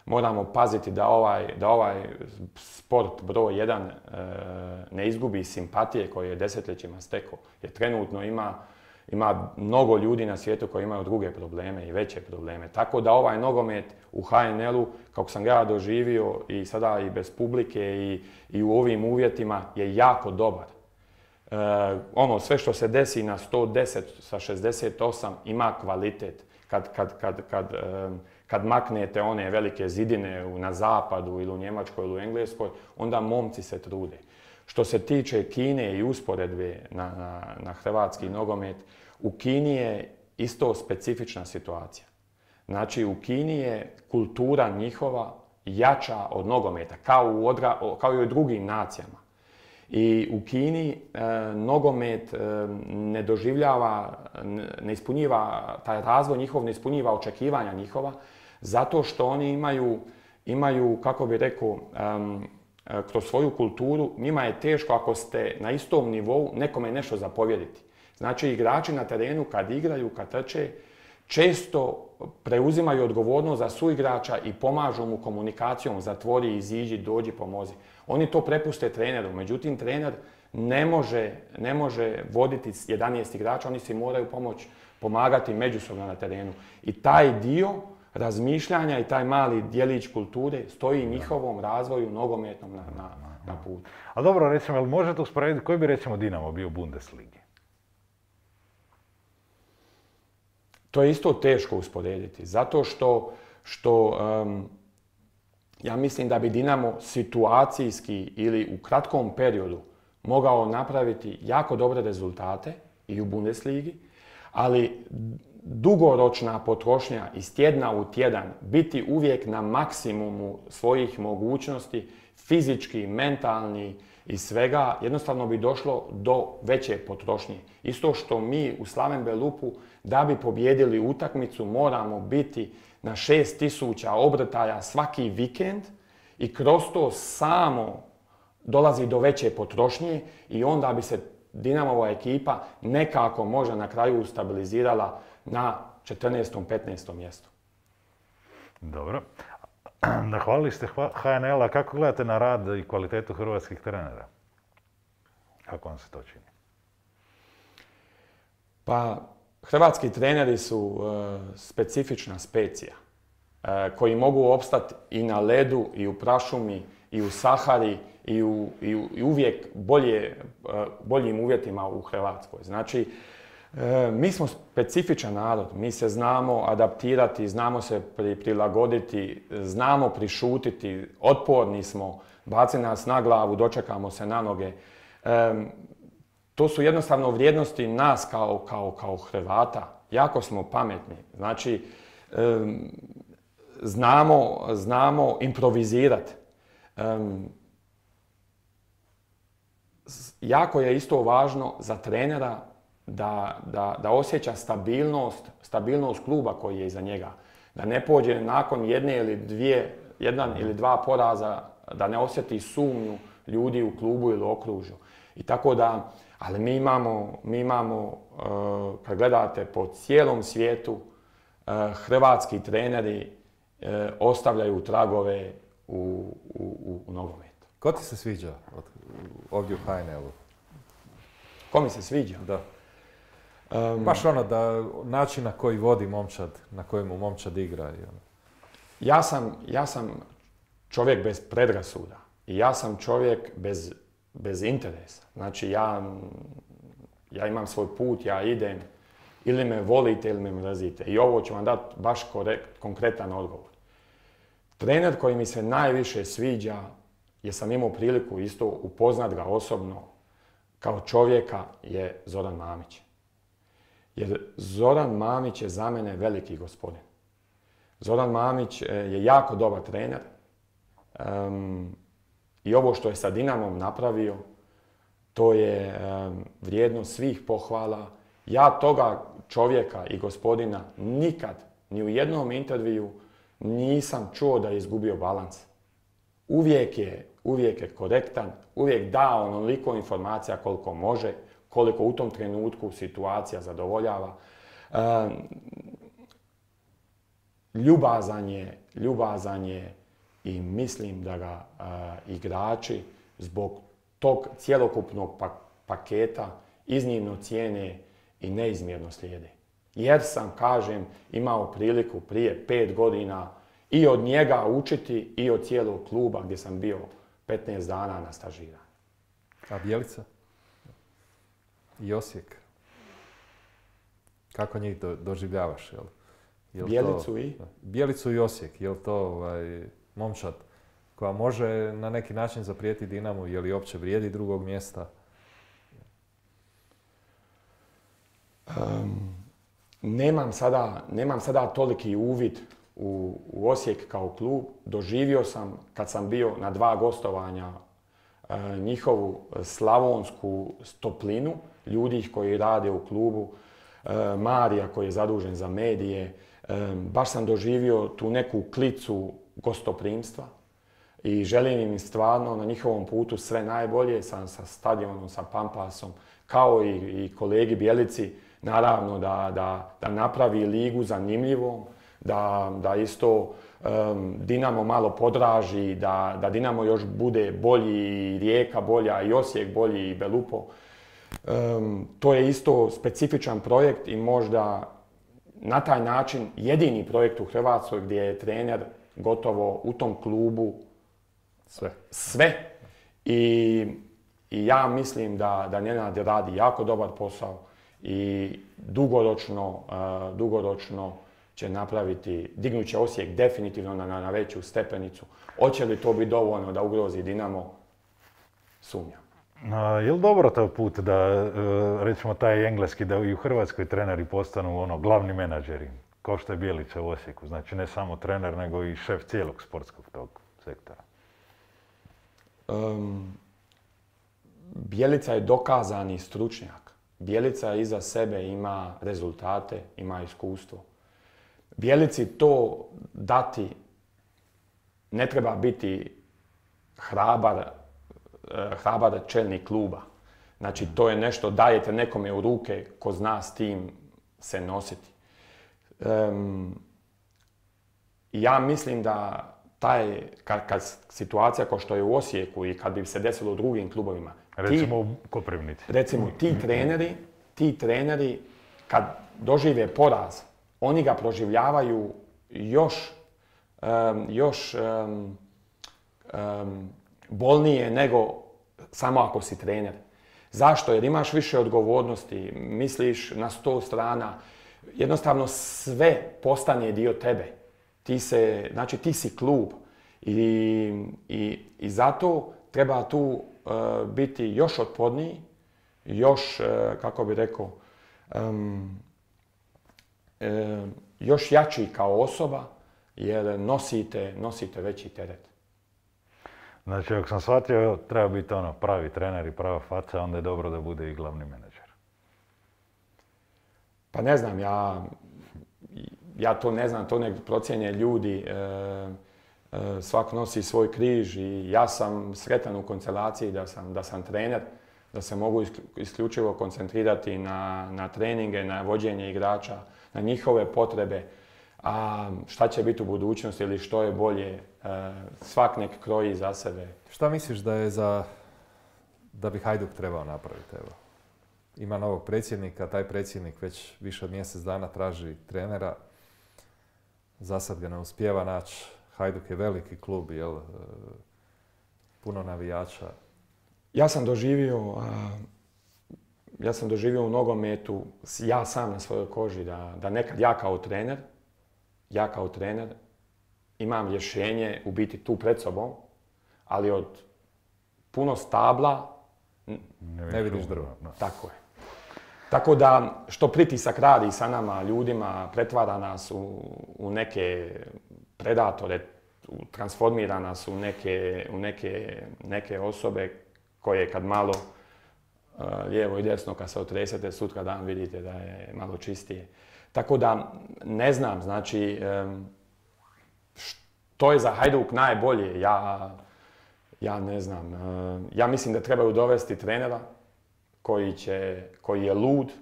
moramo paziti da ovaj, da ovaj sport broj jedan e, ne izgubi simpatije koje je desetljećima stekao. Jer trenutno ima Ima mnogo ljudi na svijetu koji imaju druge probleme i veće probleme. Tako da ovaj nogomet u H N L-u, kako sam ga ja doživio i sada i bez publike i, i u ovim uvjetima, je jako dobar. E, ono, sve što se desi na sto deset sa šezdeset osam ima kvalitet. Kad, kad, kad, kad, e, kad maknete one velike zidine na zapadu ili u Njemačkoj ili u Engleskoj, onda momci se trude. Što se tiče Kine i usporedbe na, na, na hrvatski nogomet, u Kini je isto specifična situacija. Znači, u Kini je kultura njihova jača od nogometa, kao, u odra, kao i u drugim nacijama. I u Kini e, nogomet e, ne doživljava, ne ispunjiva, taj razvoj njihov ne ispunjiva očekivanja njihova, zato što oni imaju, imaju kako bi rekao, um, kroz svoju kulturu, njima je teško ako ste na istom nivou nekome nešto zapovjediti. Znači, igrači na terenu kad igraju, kad trče, često preuzimaju odgovornost za suigrača i pomažu mu komunikacijom, zatvori, iziđi, dođi, pomozi. Oni to prepuste treneru, međutim, trener ne može, ne može voditi jedanaest igrača, oni si moraju pomoći, pomagati međusobno na terenu. I taj dio razmišljanja i taj mali djelić kulture stoji njihovom razvoju nogometnom na, na, na putu. A dobro, recimo, jel možete usporediti koji bi recimo Dinamo bio u Bundesligi? To je isto teško usporediti, zato što, što um, ja mislim da bi Dinamo situacijski ili u kratkom periodu mogao napraviti jako dobre rezultate i u Bundesligi, ali dugoročna potrošnja iz tjedna u tjedan, biti uvijek na maksimumu svojih mogućnosti, fizički, mentalni i svega, jednostavno bi došlo do veće potrošnje. Isto što mi u Slaven Belupu, da bi pobjedili utakmicu, moramo biti na šest tisuća obrtaja svaki vikend i kroz to samo dolazi do veće potrošnje i onda bi se Dinamova ekipa nekako možda na kraju stabilizirala na četrnaestom petnaestom mjestu. Dobro. Nahvalili ste H N L-a. Kako gledate na rad i kvalitetu hrvatskih trenera? Kako vam se to čini? Pa, hrvatski treneri su uh, specifična specija uh, koji mogu opstati i na ledu, i u prašumi, i u Sahari, i, u, i, u, i uvijek bolje, uh, boljim uvjetima u Hrvatskoj. Znači, E, mi smo specifičan narod, mi se znamo adaptirati, znamo se pri, prilagoditi, znamo prišutiti, otporni smo, baci nas na glavu, dočekamo se na noge. E, to su jednostavno vrijednosti nas kao, kao, kao Hrvata. Jako smo pametni. Znači, e, znamo, znamo improvizirati. E, jako je isto važno za trenera Da, da, da osjeća stabilnost, stabilnost kluba koji je iza njega. Da ne pođe nakon jedne ili dvije, jedan ili dva poraza, da ne osjeti sumnju ljudi u klubu ili okružju. I tako da, ali mi imamo, mi imamo uh, kad gledate po cijelom svijetu, uh, hrvatski treneri uh, ostavljaju tragove u, u, u, u nogometu. Ko ti se sviđa od, ovdje u H N L-u? Ko mi se sviđa? Da. Um, Baš ono da način na koji vodi momčad, na kojemu momčad igra. I ono. Ja sam, ja sam čovjek bez predrasuda i ja sam čovjek bez, bez interesa. Znači ja, ja imam svoj put, ja idem, ili me volite ili me mrazite. I ovo ću vam dati baš korekt, konkretan odgovor. Trener koji mi se najviše sviđa, jer sam imao priliku isto upoznat ga osobno kao čovjeka, je Zoran Mamić. Jer Zoran Mamić je za mene veliki gospodin. Zoran Mamić je jako dobar trener. Um, I ovo što je sa Dinamom napravio, to je um, vrijedno svih pohvala. Ja toga čovjeka i gospodina nikad, ni u jednom intervju, nisam čuo da je izgubio balans. Uvijek je, uvijek je korektan, uvijek da onoliko informacija koliko može, koliko u tom trenutku situacija zadovoljava. E, ljubazan je, ljubazan je i mislim da ga e, igrači zbog tog cjelokupnog pa, paketa iznimno cijene i neizmjerno slijede. Jer sam, kažem, imao priliku prije pet godina i od njega učiti i od cijelog kluba gdje sam bio petnaest dana na stažiranju. A Bjelica? I Osijek. Kako njih do, doživljavaš? Jel? Jel Bjelicu to, i? Bjelicu i Osijek. Je li to ovaj, momčad koja može na neki način zaprijeti Dinamu? Je li uopće vrijedi drugog mjesta? Um, nemam, sada, nemam sada toliki uvid u, u Osijek kao klub. Doživio sam kad sam bio na dva gostovanja uh, njihovu slavonsku toplinu, ljudi koji rade u klubu, uh, Marija koji je zadužen za medije. Um, baš sam doživio tu neku klicu gostoprimstva i želim im stvarno na njihovom putu sve najbolje sa, sa stadionom, sa Pampasom, kao i, i kolegi Bjelici. Naravno da, da, da napravi ligu zanimljivom, da, da isto um, Dinamo malo podraži, da, da Dinamo još bude bolji, i Rijeka bolja, i Osijek bolji, i Belupo. Um, to je isto specifičan projekt i možda na taj način jedini projekt u Hrvatskoj gdje je trener gotovo u tom klubu sve. sve. I, i ja mislim da, da Nenad radi jako dobar posao i dugoročno, uh, dugoročno će napraviti, dignut će Osijek definitivno na, na veću stepenicu. Hoće li to biti dovoljno da ugrozi Dinamo? Sumnjam. A, je li dobro taj put da, recimo taj engleski, da i u Hrvatskoj treneri postanu ono, glavni menadžeri, kao što je Bjelica u Osijeku? Znači ne samo trener, nego i šef cijelog sportskog tog sektora. Um, Bjelica je dokazani stručnjak. Bjelica iza sebe ima rezultate, ima iskustvo. Bjelici to dati ne treba biti hrabar, hrabar čelnik kluba. Znači to je nešto, dajete nekome u ruke ko zna s tim se nositi. Um, ja mislim da taj, kad, kad situacija kao što je u Osijeku i kad bi se desilo u drugim klubovima, recimo u Koprivnici. Recimo ti treneri, ti treneri kad dožive poraz, oni ga proživljavaju još, um, još um, um, bolnije nego samo ako si trener. Zašto? Jer imaš više odgovornosti, misliš na sto strana. Jednostavno sve postane dio tebe. Ti se, znači ti si klub. I, i, i zato treba tu uh, biti još otporniji, još, uh, kako bi rekao, um, um, još jači kao osoba, jer nosite, nosite veći teret. Znači, ako sam shvatio, treba biti ono pravi trener i prava faca, onda je dobro da bude i glavni menadžer. Pa ne znam, ja, ja to ne znam, to nek procjenje ljudi. E, e, svak nosi svoj križ i ja sam sretan u koncelaciji da sam, da sam trener, da se mogu isključivo koncentrirati na, na treninge, na vođenje igrača, na njihove potrebe. A šta će biti u budućnosti ili što je bolje, svak nek kroji za sebe. Šta misliš da je za, da bi Hajduk trebao napraviti? Evo, ima novog predsjednika, taj predsjednik već više od mjesec dana traži trenera. Za sad ga ne uspijeva naći. Hajduk je veliki klub, jel? Puno navijača. Ja sam doživio, ja sam doživio u nogometu, ja sam na svojoj koži, da, da nekad ja kao trener, ja kao trener imam rješenje u biti tu pred sobom, ali od puno stabla ne, ne vidiš drvo. Tako je. Tako da što pritisak radi sa nama, ljudima, pretvara nas u, u neke predatore, transformira nas u neke, u neke, neke osobe koje kad malo uh, lijevo i desno kad se otresete, sutra dan vidite da je malo čistije. Tako da ne znam, znači um, što je za Hajduk najbolje, ja, ja ne znam. Uh, ja mislim da trebaju dovesti trenera koji, će, koji je lud,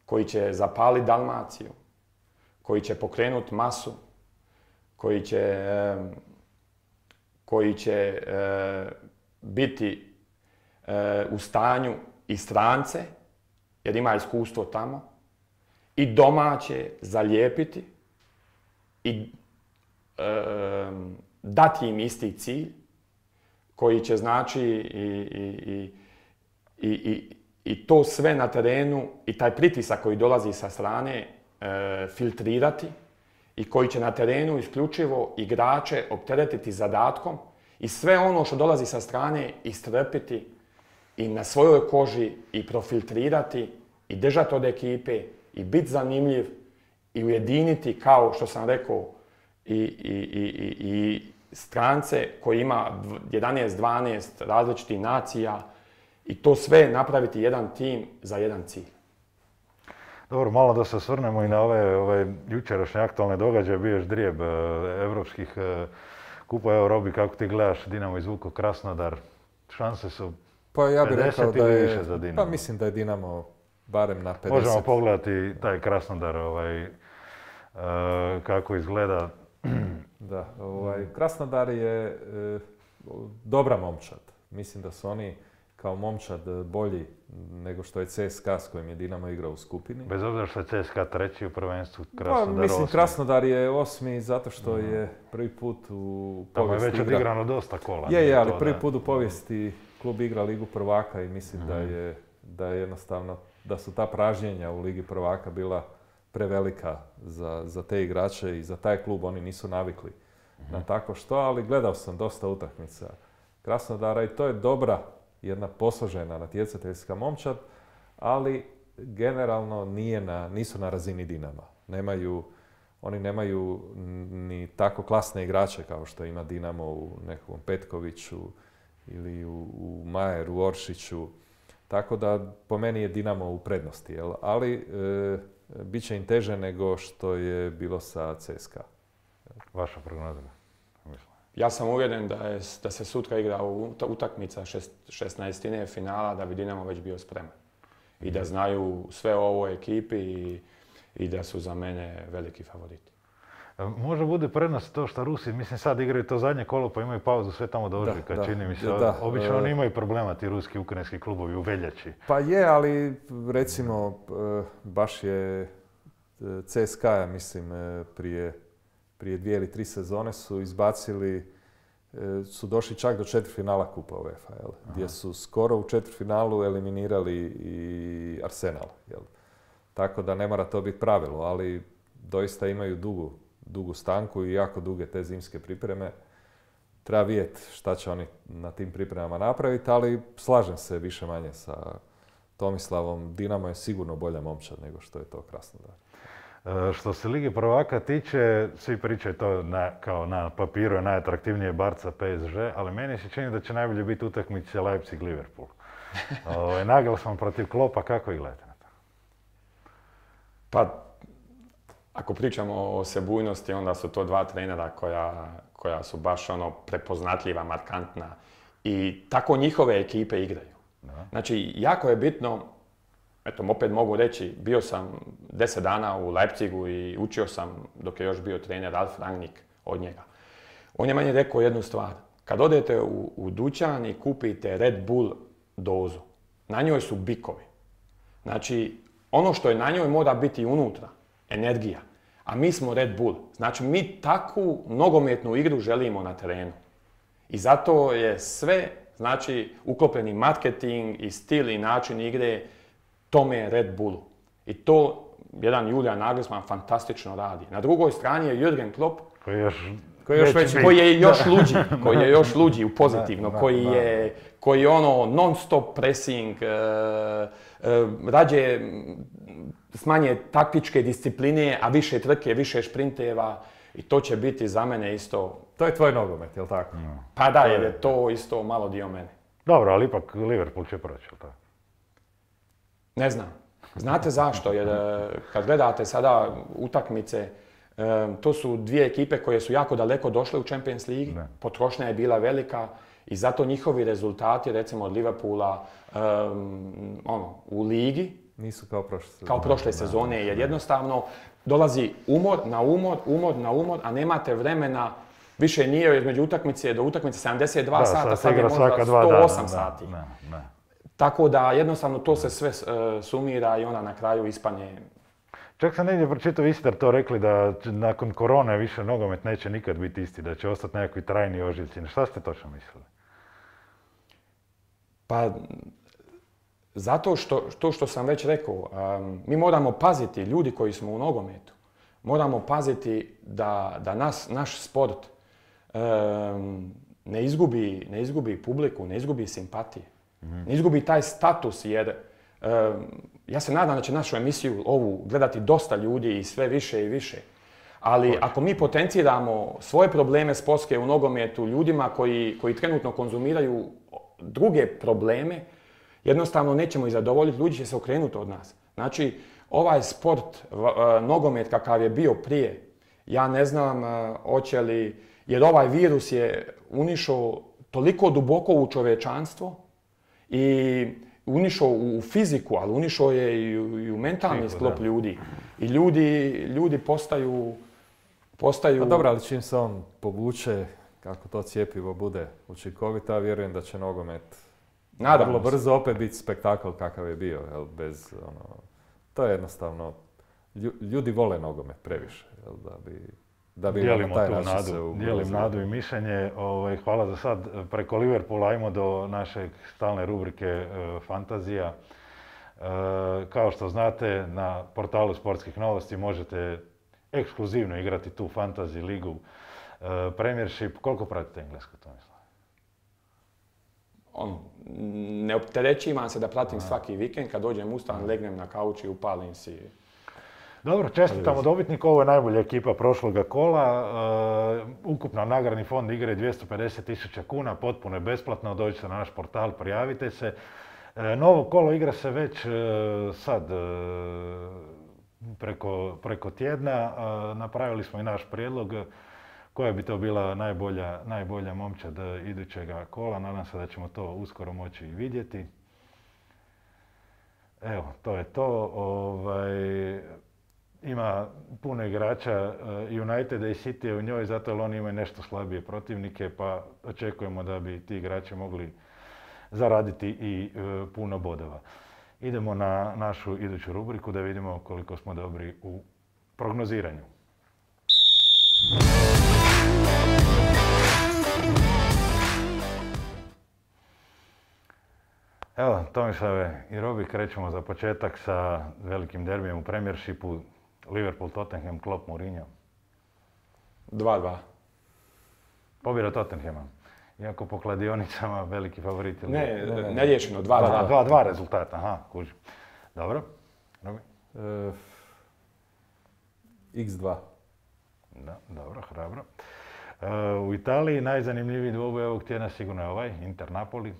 koji će zapaliti Dalmaciju, koji će pokrenuti masu, koji će, um, koji će uh, biti uh, u stanju i strance, jer ima iskustvo tamo, i domaće zalijepiti i e, dati im isti cilj koji će znači i, i, i, i, i to sve na terenu i taj pritisak koji dolazi sa strane e, filtrirati i koji će na terenu isključivo igrače opteretiti zadatkom i sve ono što dolazi sa strane istrpiti i na svojoj koži i profiltrirati i držati od ekipe i biti zanimljiv i ujediniti, kao što sam rekao, i, i, i, i strance koji ima jedanaest dvanaest različitih nacija i to sve napraviti jedan tim za jedan cilj. Dobro, malo da se osvrnemo i na ove, ove jučerašnje aktualne događaje, bio je ždrijeb e, evropskih e, kupa. Evo, Robi, kako ti gledaš Dinamo izvuko Krasnodar? Šanse su pa ja bih rekao da je, više za Dinamo. Pa mislim da je Dinamo barem na pedeset. Možemo pogledati taj Krasnodar, ovaj, uh, kako izgleda. Da, ovaj, Krasnodar je uh, dobra momčad. Mislim da su oni kao momčad bolji nego što je C S K a s kojim je Dinamo igrao u skupini. Bez obzira što je C S K a treći u prvenstvu, Krasnodar pa, mislim, osmi. Krasnodar je osmi zato što mm. je prvi put u povijesti igra... Tamo je već odigrano dosta kola. Je, je, ali to, prvi da. put u povijesti klub igra Ligu prvaka i mislim mm. da je da je jednostavno, da su ta pražnjenja u Ligi prvaka bila prevelika za, za te igrače i za taj klub. Oni nisu navikli mm-hmm. na tako što, ali gledao sam dosta utakmica Krasnodara i to je dobra, jedna posložena natjecateljska momčad, ali generalno nije na, nisu na razini Dinama. Nemaju, oni nemaju ni tako klasne igrače kao što ima Dinamo u nekom Petkoviću ili u, u Majeru, Oršiću. Tako da po meni je Dinamo u prednosti, jel? Ali e, bit će im teže nego što je bilo sa C S K a. Vaša prognoza? Ja sam uvjeren da, je, da se sutra igra utakmica šest, šesnaestine finala da bi Dinamo već bio spreman. I da znaju sve o ovoj ekipi i, i da su za mene veliki favoriti. Možda bude prednost to što Rusi, mislim sad igraju to zadnje kolo pa imaju pauzu sve tamo do ožujka, da, čini mi se. Da, obično oni imaju problema ti ruski ukrajinski klubovi u veljači. Pa je, ali recimo baš je C S K a, mislim, prije, prije dvije ili tri sezone su izbacili su došli čak do četvrtfinala Kupa UEFA, jel? Gdje su skoro u četvrtfinalu eliminirali i Arsenal. Jel? Tako da ne mora to biti pravilo, ali doista imaju dugu, dugu stanku i jako duge te zimske pripreme. Treba vidjeti šta će oni na tim pripremama napraviti, ali slažem se više manje sa Tomislavom. Dinamo je sigurno bolja momčad nego što je to Krasnodar. E, što se Lige prvaka tiče, svi pričaju to na, kao na papiru je najatraktivnije Barca P S G, ali meni se čini da će najbolje biti utakmice Leipzig-Liverpool. O, Nagelsmann protiv Kloppa, kako ih gledate na to? Pa, ako pričamo o sebujnosti, onda su to dva trenera koja, koja su baš ono prepoznatljiva, markantna i tako njihove ekipe igraju. Da. Znači, jako je bitno, eto, opet mogu reći, bio sam deset dana u Leipzigu i učio sam, dok je još bio trener Ralf Rangnick, od njega. On je meni rekao jednu stvar. Kad odete u, u dućan i kupite Red Bull dozu, na njoj su bikovi. Znači, ono što je na njoj mora biti unutra, energija. A mi smo Red Bull. Znači, mi takvu nogometnu igru želimo na terenu. I zato je sve, znači, uklopljeni marketing i stil i način igre tome Red Bullu. I to jedan Julian Nagelsmann fantastično radi. Na drugoj strani je Jürgen Klopp, koji je još, koji je još, već, koji je još luđi, koji je još luđi u pozitivno, da, da, koji, je, koji je ono non-stop pressing, uh, uh, rađe smanje taktičke discipline, a više trke, više šprinteva i to će biti za mene isto... To je tvoj nogomet, jel tako? No. Pa da, jer je to isto malo dio mene. Dobro, ali ipak Liverpool će proći, jel tako? Ne znam. Znate zašto? Jer kad gledate sada utakmice, to su dvije ekipe koje su jako daleko došle u Champions League. Ne. Potrošnja je bila velika i zato njihovi rezultati, recimo od Liverpoola, um, ono, u ligi, nisu kao prošle sezone. Kao prošle sezone, jer jednostavno dolazi umor na umor, umor na umor, a nemate vremena. Više nije između utakmice do utakmice sedamdeset dva da, sata, sad je možda sto osam sati. Ne, ne. Tako da jednostavno to se sve uh, sumira i ona na kraju ispanje. Čak sam negdje pročitao, vi ste to rekli da nakon korone više nogomet neće nikad biti isti, da će ostati nekakvi trajni ožiljci. Šta ste točno mislili? Pa, zato što, to što sam već rekao, um, mi moramo paziti, ljudi koji smo u nogometu, moramo paziti da, da nas, naš sport um, ne izgubi, ne izgubi publiku, ne izgubi simpatije. Ne izgubi taj status jer uh, ja se nadam da će našu emisiju ovu gledati dosta ljudi i sve više i više. Ali Hoće. Ako mi potenciramo svoje probleme sportske u nogometu ljudima koji, koji trenutno konzumiraju druge probleme, jednostavno nećemo ih zadovoljiti, ljudi će se okrenuti od nas. Znači, ovaj sport, uh, nogomet kakav je bio prije, ja ne znam uh, hoće li, jer ovaj virus je unišao toliko duboko u čovječanstvo, i unišao u fiziku, ali unišao je i u, i u mentalni Fiku, sklop da. ljudi. I ljudi, ljudi postaju... postaju... Pa dobro, ali čim se on povuče, kako to cjepivo bude učinkovito, vjerujem da će nogomet Nadam vrlo se. brzo opet biti spektakl kakav je bio. Jel, bez, ono, to je jednostavno... Ljudi vole nogomet previše, jel, da bi... Da bi dijelimo taj tu nadu, dijelim nadu i mišljenje. Ovaj, hvala za sad. Preko Liverpoola ajmo do naše stalne rubrike e, Fantazija. E, kao što znate, na portalu Sportskih novosti možete ekskluzivno igrati tu Fantasy ligu e, Premiership. Koliko pratite englesku, Tomislav? On, ne opterećivam se da pratim A. svaki vikend. Kad dođem ustan, legnem na kauč i upalim si. Dobro, čestitamo dobitniku, ovo je najbolja ekipa prošloga kola. Uh, ukupno nagradni fond igre dvjesto pedeset tisuća kuna, potpuno je besplatno, dođite na naš portal, prijavite se. Uh, novo kolo igra se već uh, sad uh, preko, preko tjedna. Uh, napravili smo i naš prijedlog koja bi to bila najbolja, najbolja momčad idućega kola. Nadam se da ćemo to uskoro moći vidjeti. Evo, to je to. Ovaj, ima puno igrača Uniteda i City u njoj, zato jer oni imaju nešto slabije protivnike, pa očekujemo da bi ti igrači mogli zaraditi i e, puno bodova. Idemo na našu iduću rubriku da vidimo koliko smo dobri u prognoziranju. Evo, Tomislave i Robi, krećemo za početak sa velikim derbijem u Premiershipu. Liverpool, Tottenham, Klopp, Mourinho. dva dva. Pobjeda Tottenhama. Iako po kladionicama veliki favorit. Ne, neriješeno, dva dva. dva dva rezultata, aha, kužim. Dobro. Robi? Uh, iks dva. Da, dobro, hrabro. Uh, u Italiji najzanimljiviji dvoboj ovog tjedna sigurno je ovaj, Inter Napoli.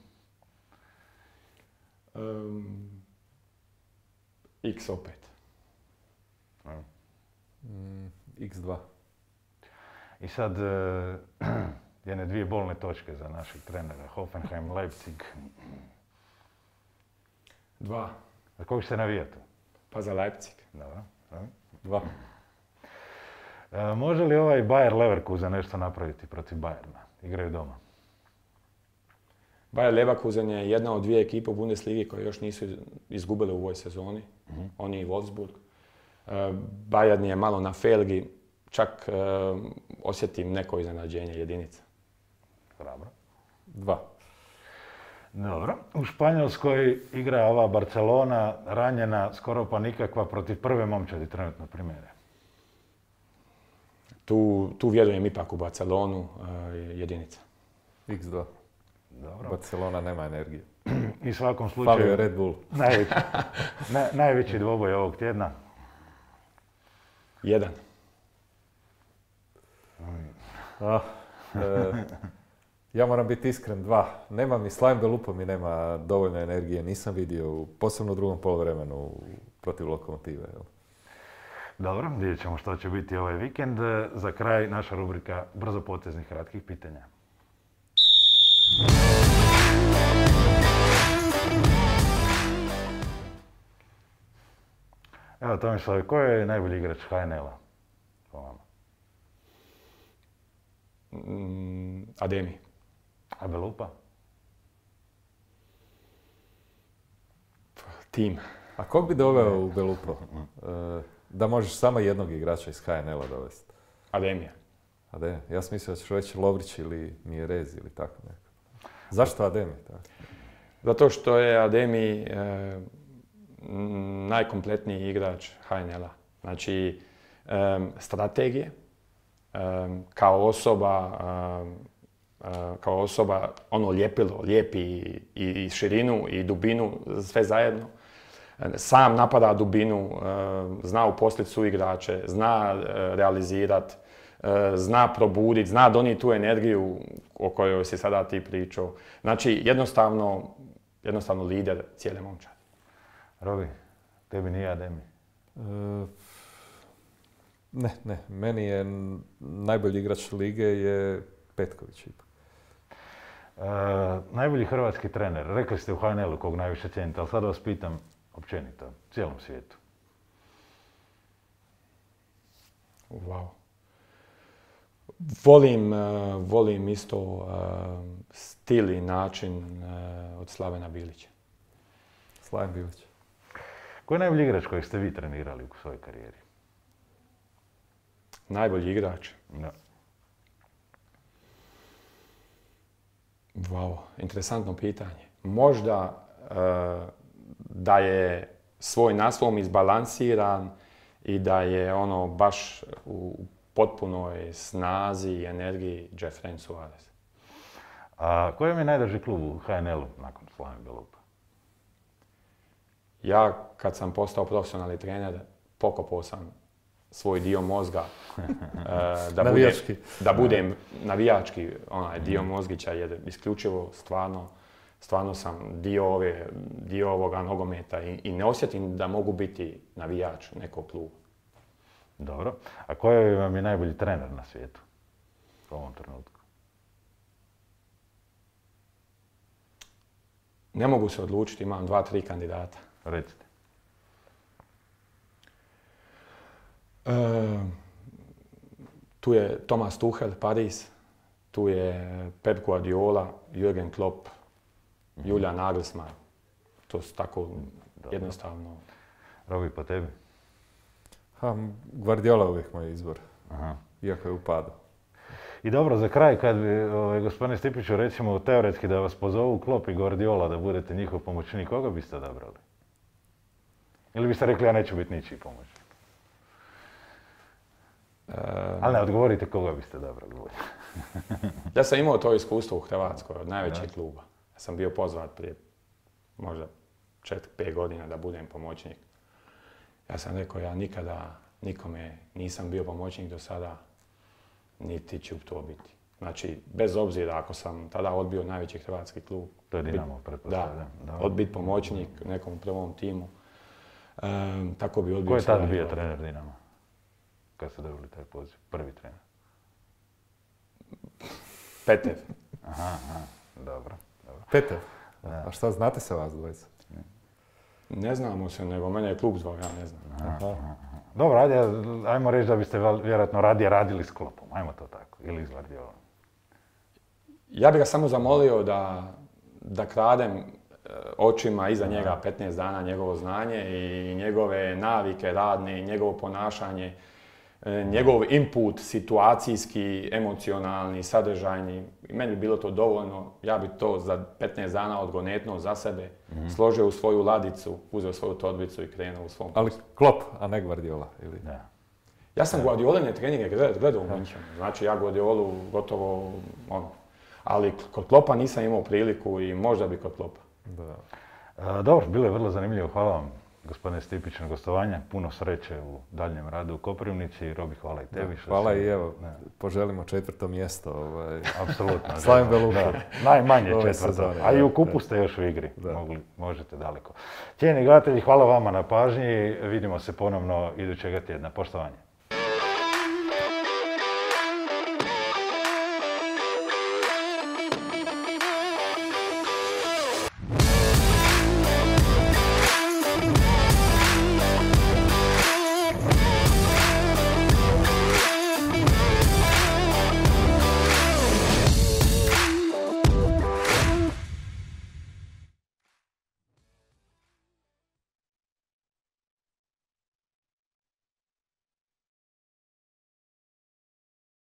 Um, X opet. Mm, iks dva. I sad, uh, jedne dvije bolne točke za našeg trenera. Hoffenheim, Leipzig. dva. Za kog ćete navijati? Pa za Leipzig. Dobro. Dobro. dva. E, može li ovaj Bayer Leverkusen nešto napraviti protiv Bayerna? Igraju doma. Bayer Leverkusen je jedna od dvije ekipe u Bundesligi koje još nisu izgubile u ovoj sezoni. Mm-hmm. Oni i Wolfsburg. E, Bayern je malo na felgi. Čak e, osjetim neko iznenađenje jedinica. Hrabro. dva. Dobro. U Španjolskoj igra ova Barcelona, ranjena, skoro pa nikakva, protiv prve momčadi trenutno primjere. Tu, tu vjerujem ipak u Barcelonu, uh, jedinica. iks dva. Dobro. Barcelona nema energije. I u svakom slučaju... Falio je Red Bull. Najveći, na, najveći dvoboj ovog tjedna. jedan. Ah, e, ja moram biti iskren, dva. Nema mi, Slaven Belupo mi nema dovoljno energije, nisam vidio, posebno u drugom poluvremenu protiv Lokomotive. Jel? Dobro, vidjet ćemo što će biti ovaj vikend. Za kraj naša rubrika brzopoteznih kratkih pitanja. Evo, Tomislav, ko je najbolji igrač ha en el-a po vama? Mm, Ademi. A Belupa? Tim. A kog bi doveo u Belupo? E, da možeš samo jednog igrača iz ha en el-a dovesti? Ademija. Ademi. Ja sam mislio da ćeš reći Lovrić ili Mjerez ili tako neko. Zašto Ademi? Tako? Zato što je Ademi e, najkompletniji igrač ha en el-a. Znači, e, strategije, e, kao osoba, e, kao osoba, ono lijepilo, lijepi i, i širinu i dubinu, sve zajedno. Sam napada dubinu, zna uposliti suigrače, zna realizirati, zna probuditi, zna donijeti tu energiju o kojoj si sada ti pričao. Znači, jednostavno, jednostavno lider cijele momčadi. Robi, tebi nije Ademi? E, ne, ne. Meni je najbolji igrač lige je Petković ipak. E, najbolji hrvatski trener. Rekli ste u ha en el-u kog najviše cijenite, ali sad vas pitam općenito, u cijelom svijetu. Wow. Volim, uh, volim isto uh, stil i način uh, od Slavena Bilića. Slaven Bilić. Ko je najbolji igrač kojeg ste vi trenirali u svojoj karijeri? Najbolji igrač? Da. Wow, interesantno pitanje. Možda uh, da je svoj naslov izbalansiran i da je ono baš u potpunoj snazi i energiji Jeffrey Suarez. A koji vam je najdrži klub u ha en el-u nakon Slaven Belupa? Ja kad sam postao profesionalni trener, pokopao sam svoj dio mozga uh, da, budem, da budem navijački onaj dio mozgića, jer isključivo stvarno Stvarno sam dio, ove, dio ovoga nogometa i, i ne osjetim da mogu biti navijač nekog kluba. Dobro. A koji vam je najbolji trener na svijetu u ovom trenutku? Ne mogu se odlučiti, imam dva, tri kandidata. Recite. E, tu je Thomas Tuchel, Paris. Tu je Pep Guardiola, Jürgen Klopp, Julian Nagelsmann. To su tako dobro. Jednostavno. Robi, po tebi? Ha, Guardiola uvijek moj izbor. Aha. Iako je u padu. I dobro, za kraj, kad bi, ovaj, gospodine Stipiću, recimo teoretski da vas pozovu Klopp i Guardiola da budete njihov pomoćnik, koga biste odabrali? Ili biste rekli, ja neću biti ničiji pomoćnik? E, Ali ne, odgovorite koga biste odabrali. Ja sam imao to iskustvo u Hrvatskoj od najvećeg kluba. Ja sam bio pozvat prije možda četiri pet godina da budem pomoćnik. Ja sam rekao, ja nikada nikome nisam bio pomoćnik do sada, niti ću to biti. Znači, bez obzira ako sam tada odbio najveći hrvatski klub. To je Dinamo, pretpostavljam. Da, odbiti pomoćnik nekom prvom timu. Um, tako bi odbio. Ko je tada bio trener Dinama? Kad ste dobili taj poziv? Prvi trener? Petev. Aha, aha, dobro. dobro. Petev? A šta, znate se vas dvojica? Ne znamo se, nego mene je klub zvao, ja ne znam. Aha, aha. Dobro, ajde, ajmo reći da biste vjerojatno radije radili s Kloppom, ajmo to tako, ili s Guardiolom. Ja bih ga samo zamolio da, da kradem očima iza njega petnaest dana njegovo znanje i njegove navike radne, njegovo ponašanje, njegov input situacijski, emocionalni, sadržajni. Meni bi bilo to dovoljno, ja bi to za petnaest dana odgonetnuo za sebe, mm-hmm. složio u svoju ladicu, uzeo svoju torbicu i krenuo u svom poslu. Ali Klopp, a ne Guardiola, ili? Da. Ja sam Guardioline treninge gledao u Münchenu, znači ja Guardiolu gotovo ono. Ali kod Kloppa nisam imao priliku i možda bi kod Kloppa. Da. A, dobro, bilo je vrlo zanimljivo. Hvala vam, gospodine Stipić, na gostovanje. Puno sreće u daljnjem radu u Koprivnici i Robi, hvala i tebi. Da, hvala i evo, ne. Poželimo četvrto mjesto. Ovaj. Apsolutno. Slavim Belupu. Najmanje četvrto. A i u kupu ste još u igri. Mogli, možete daleko. Cijenjeni gledatelji, hvala vama na pažnji. Vidimo se ponovno idućega tjedna. Poštovanje.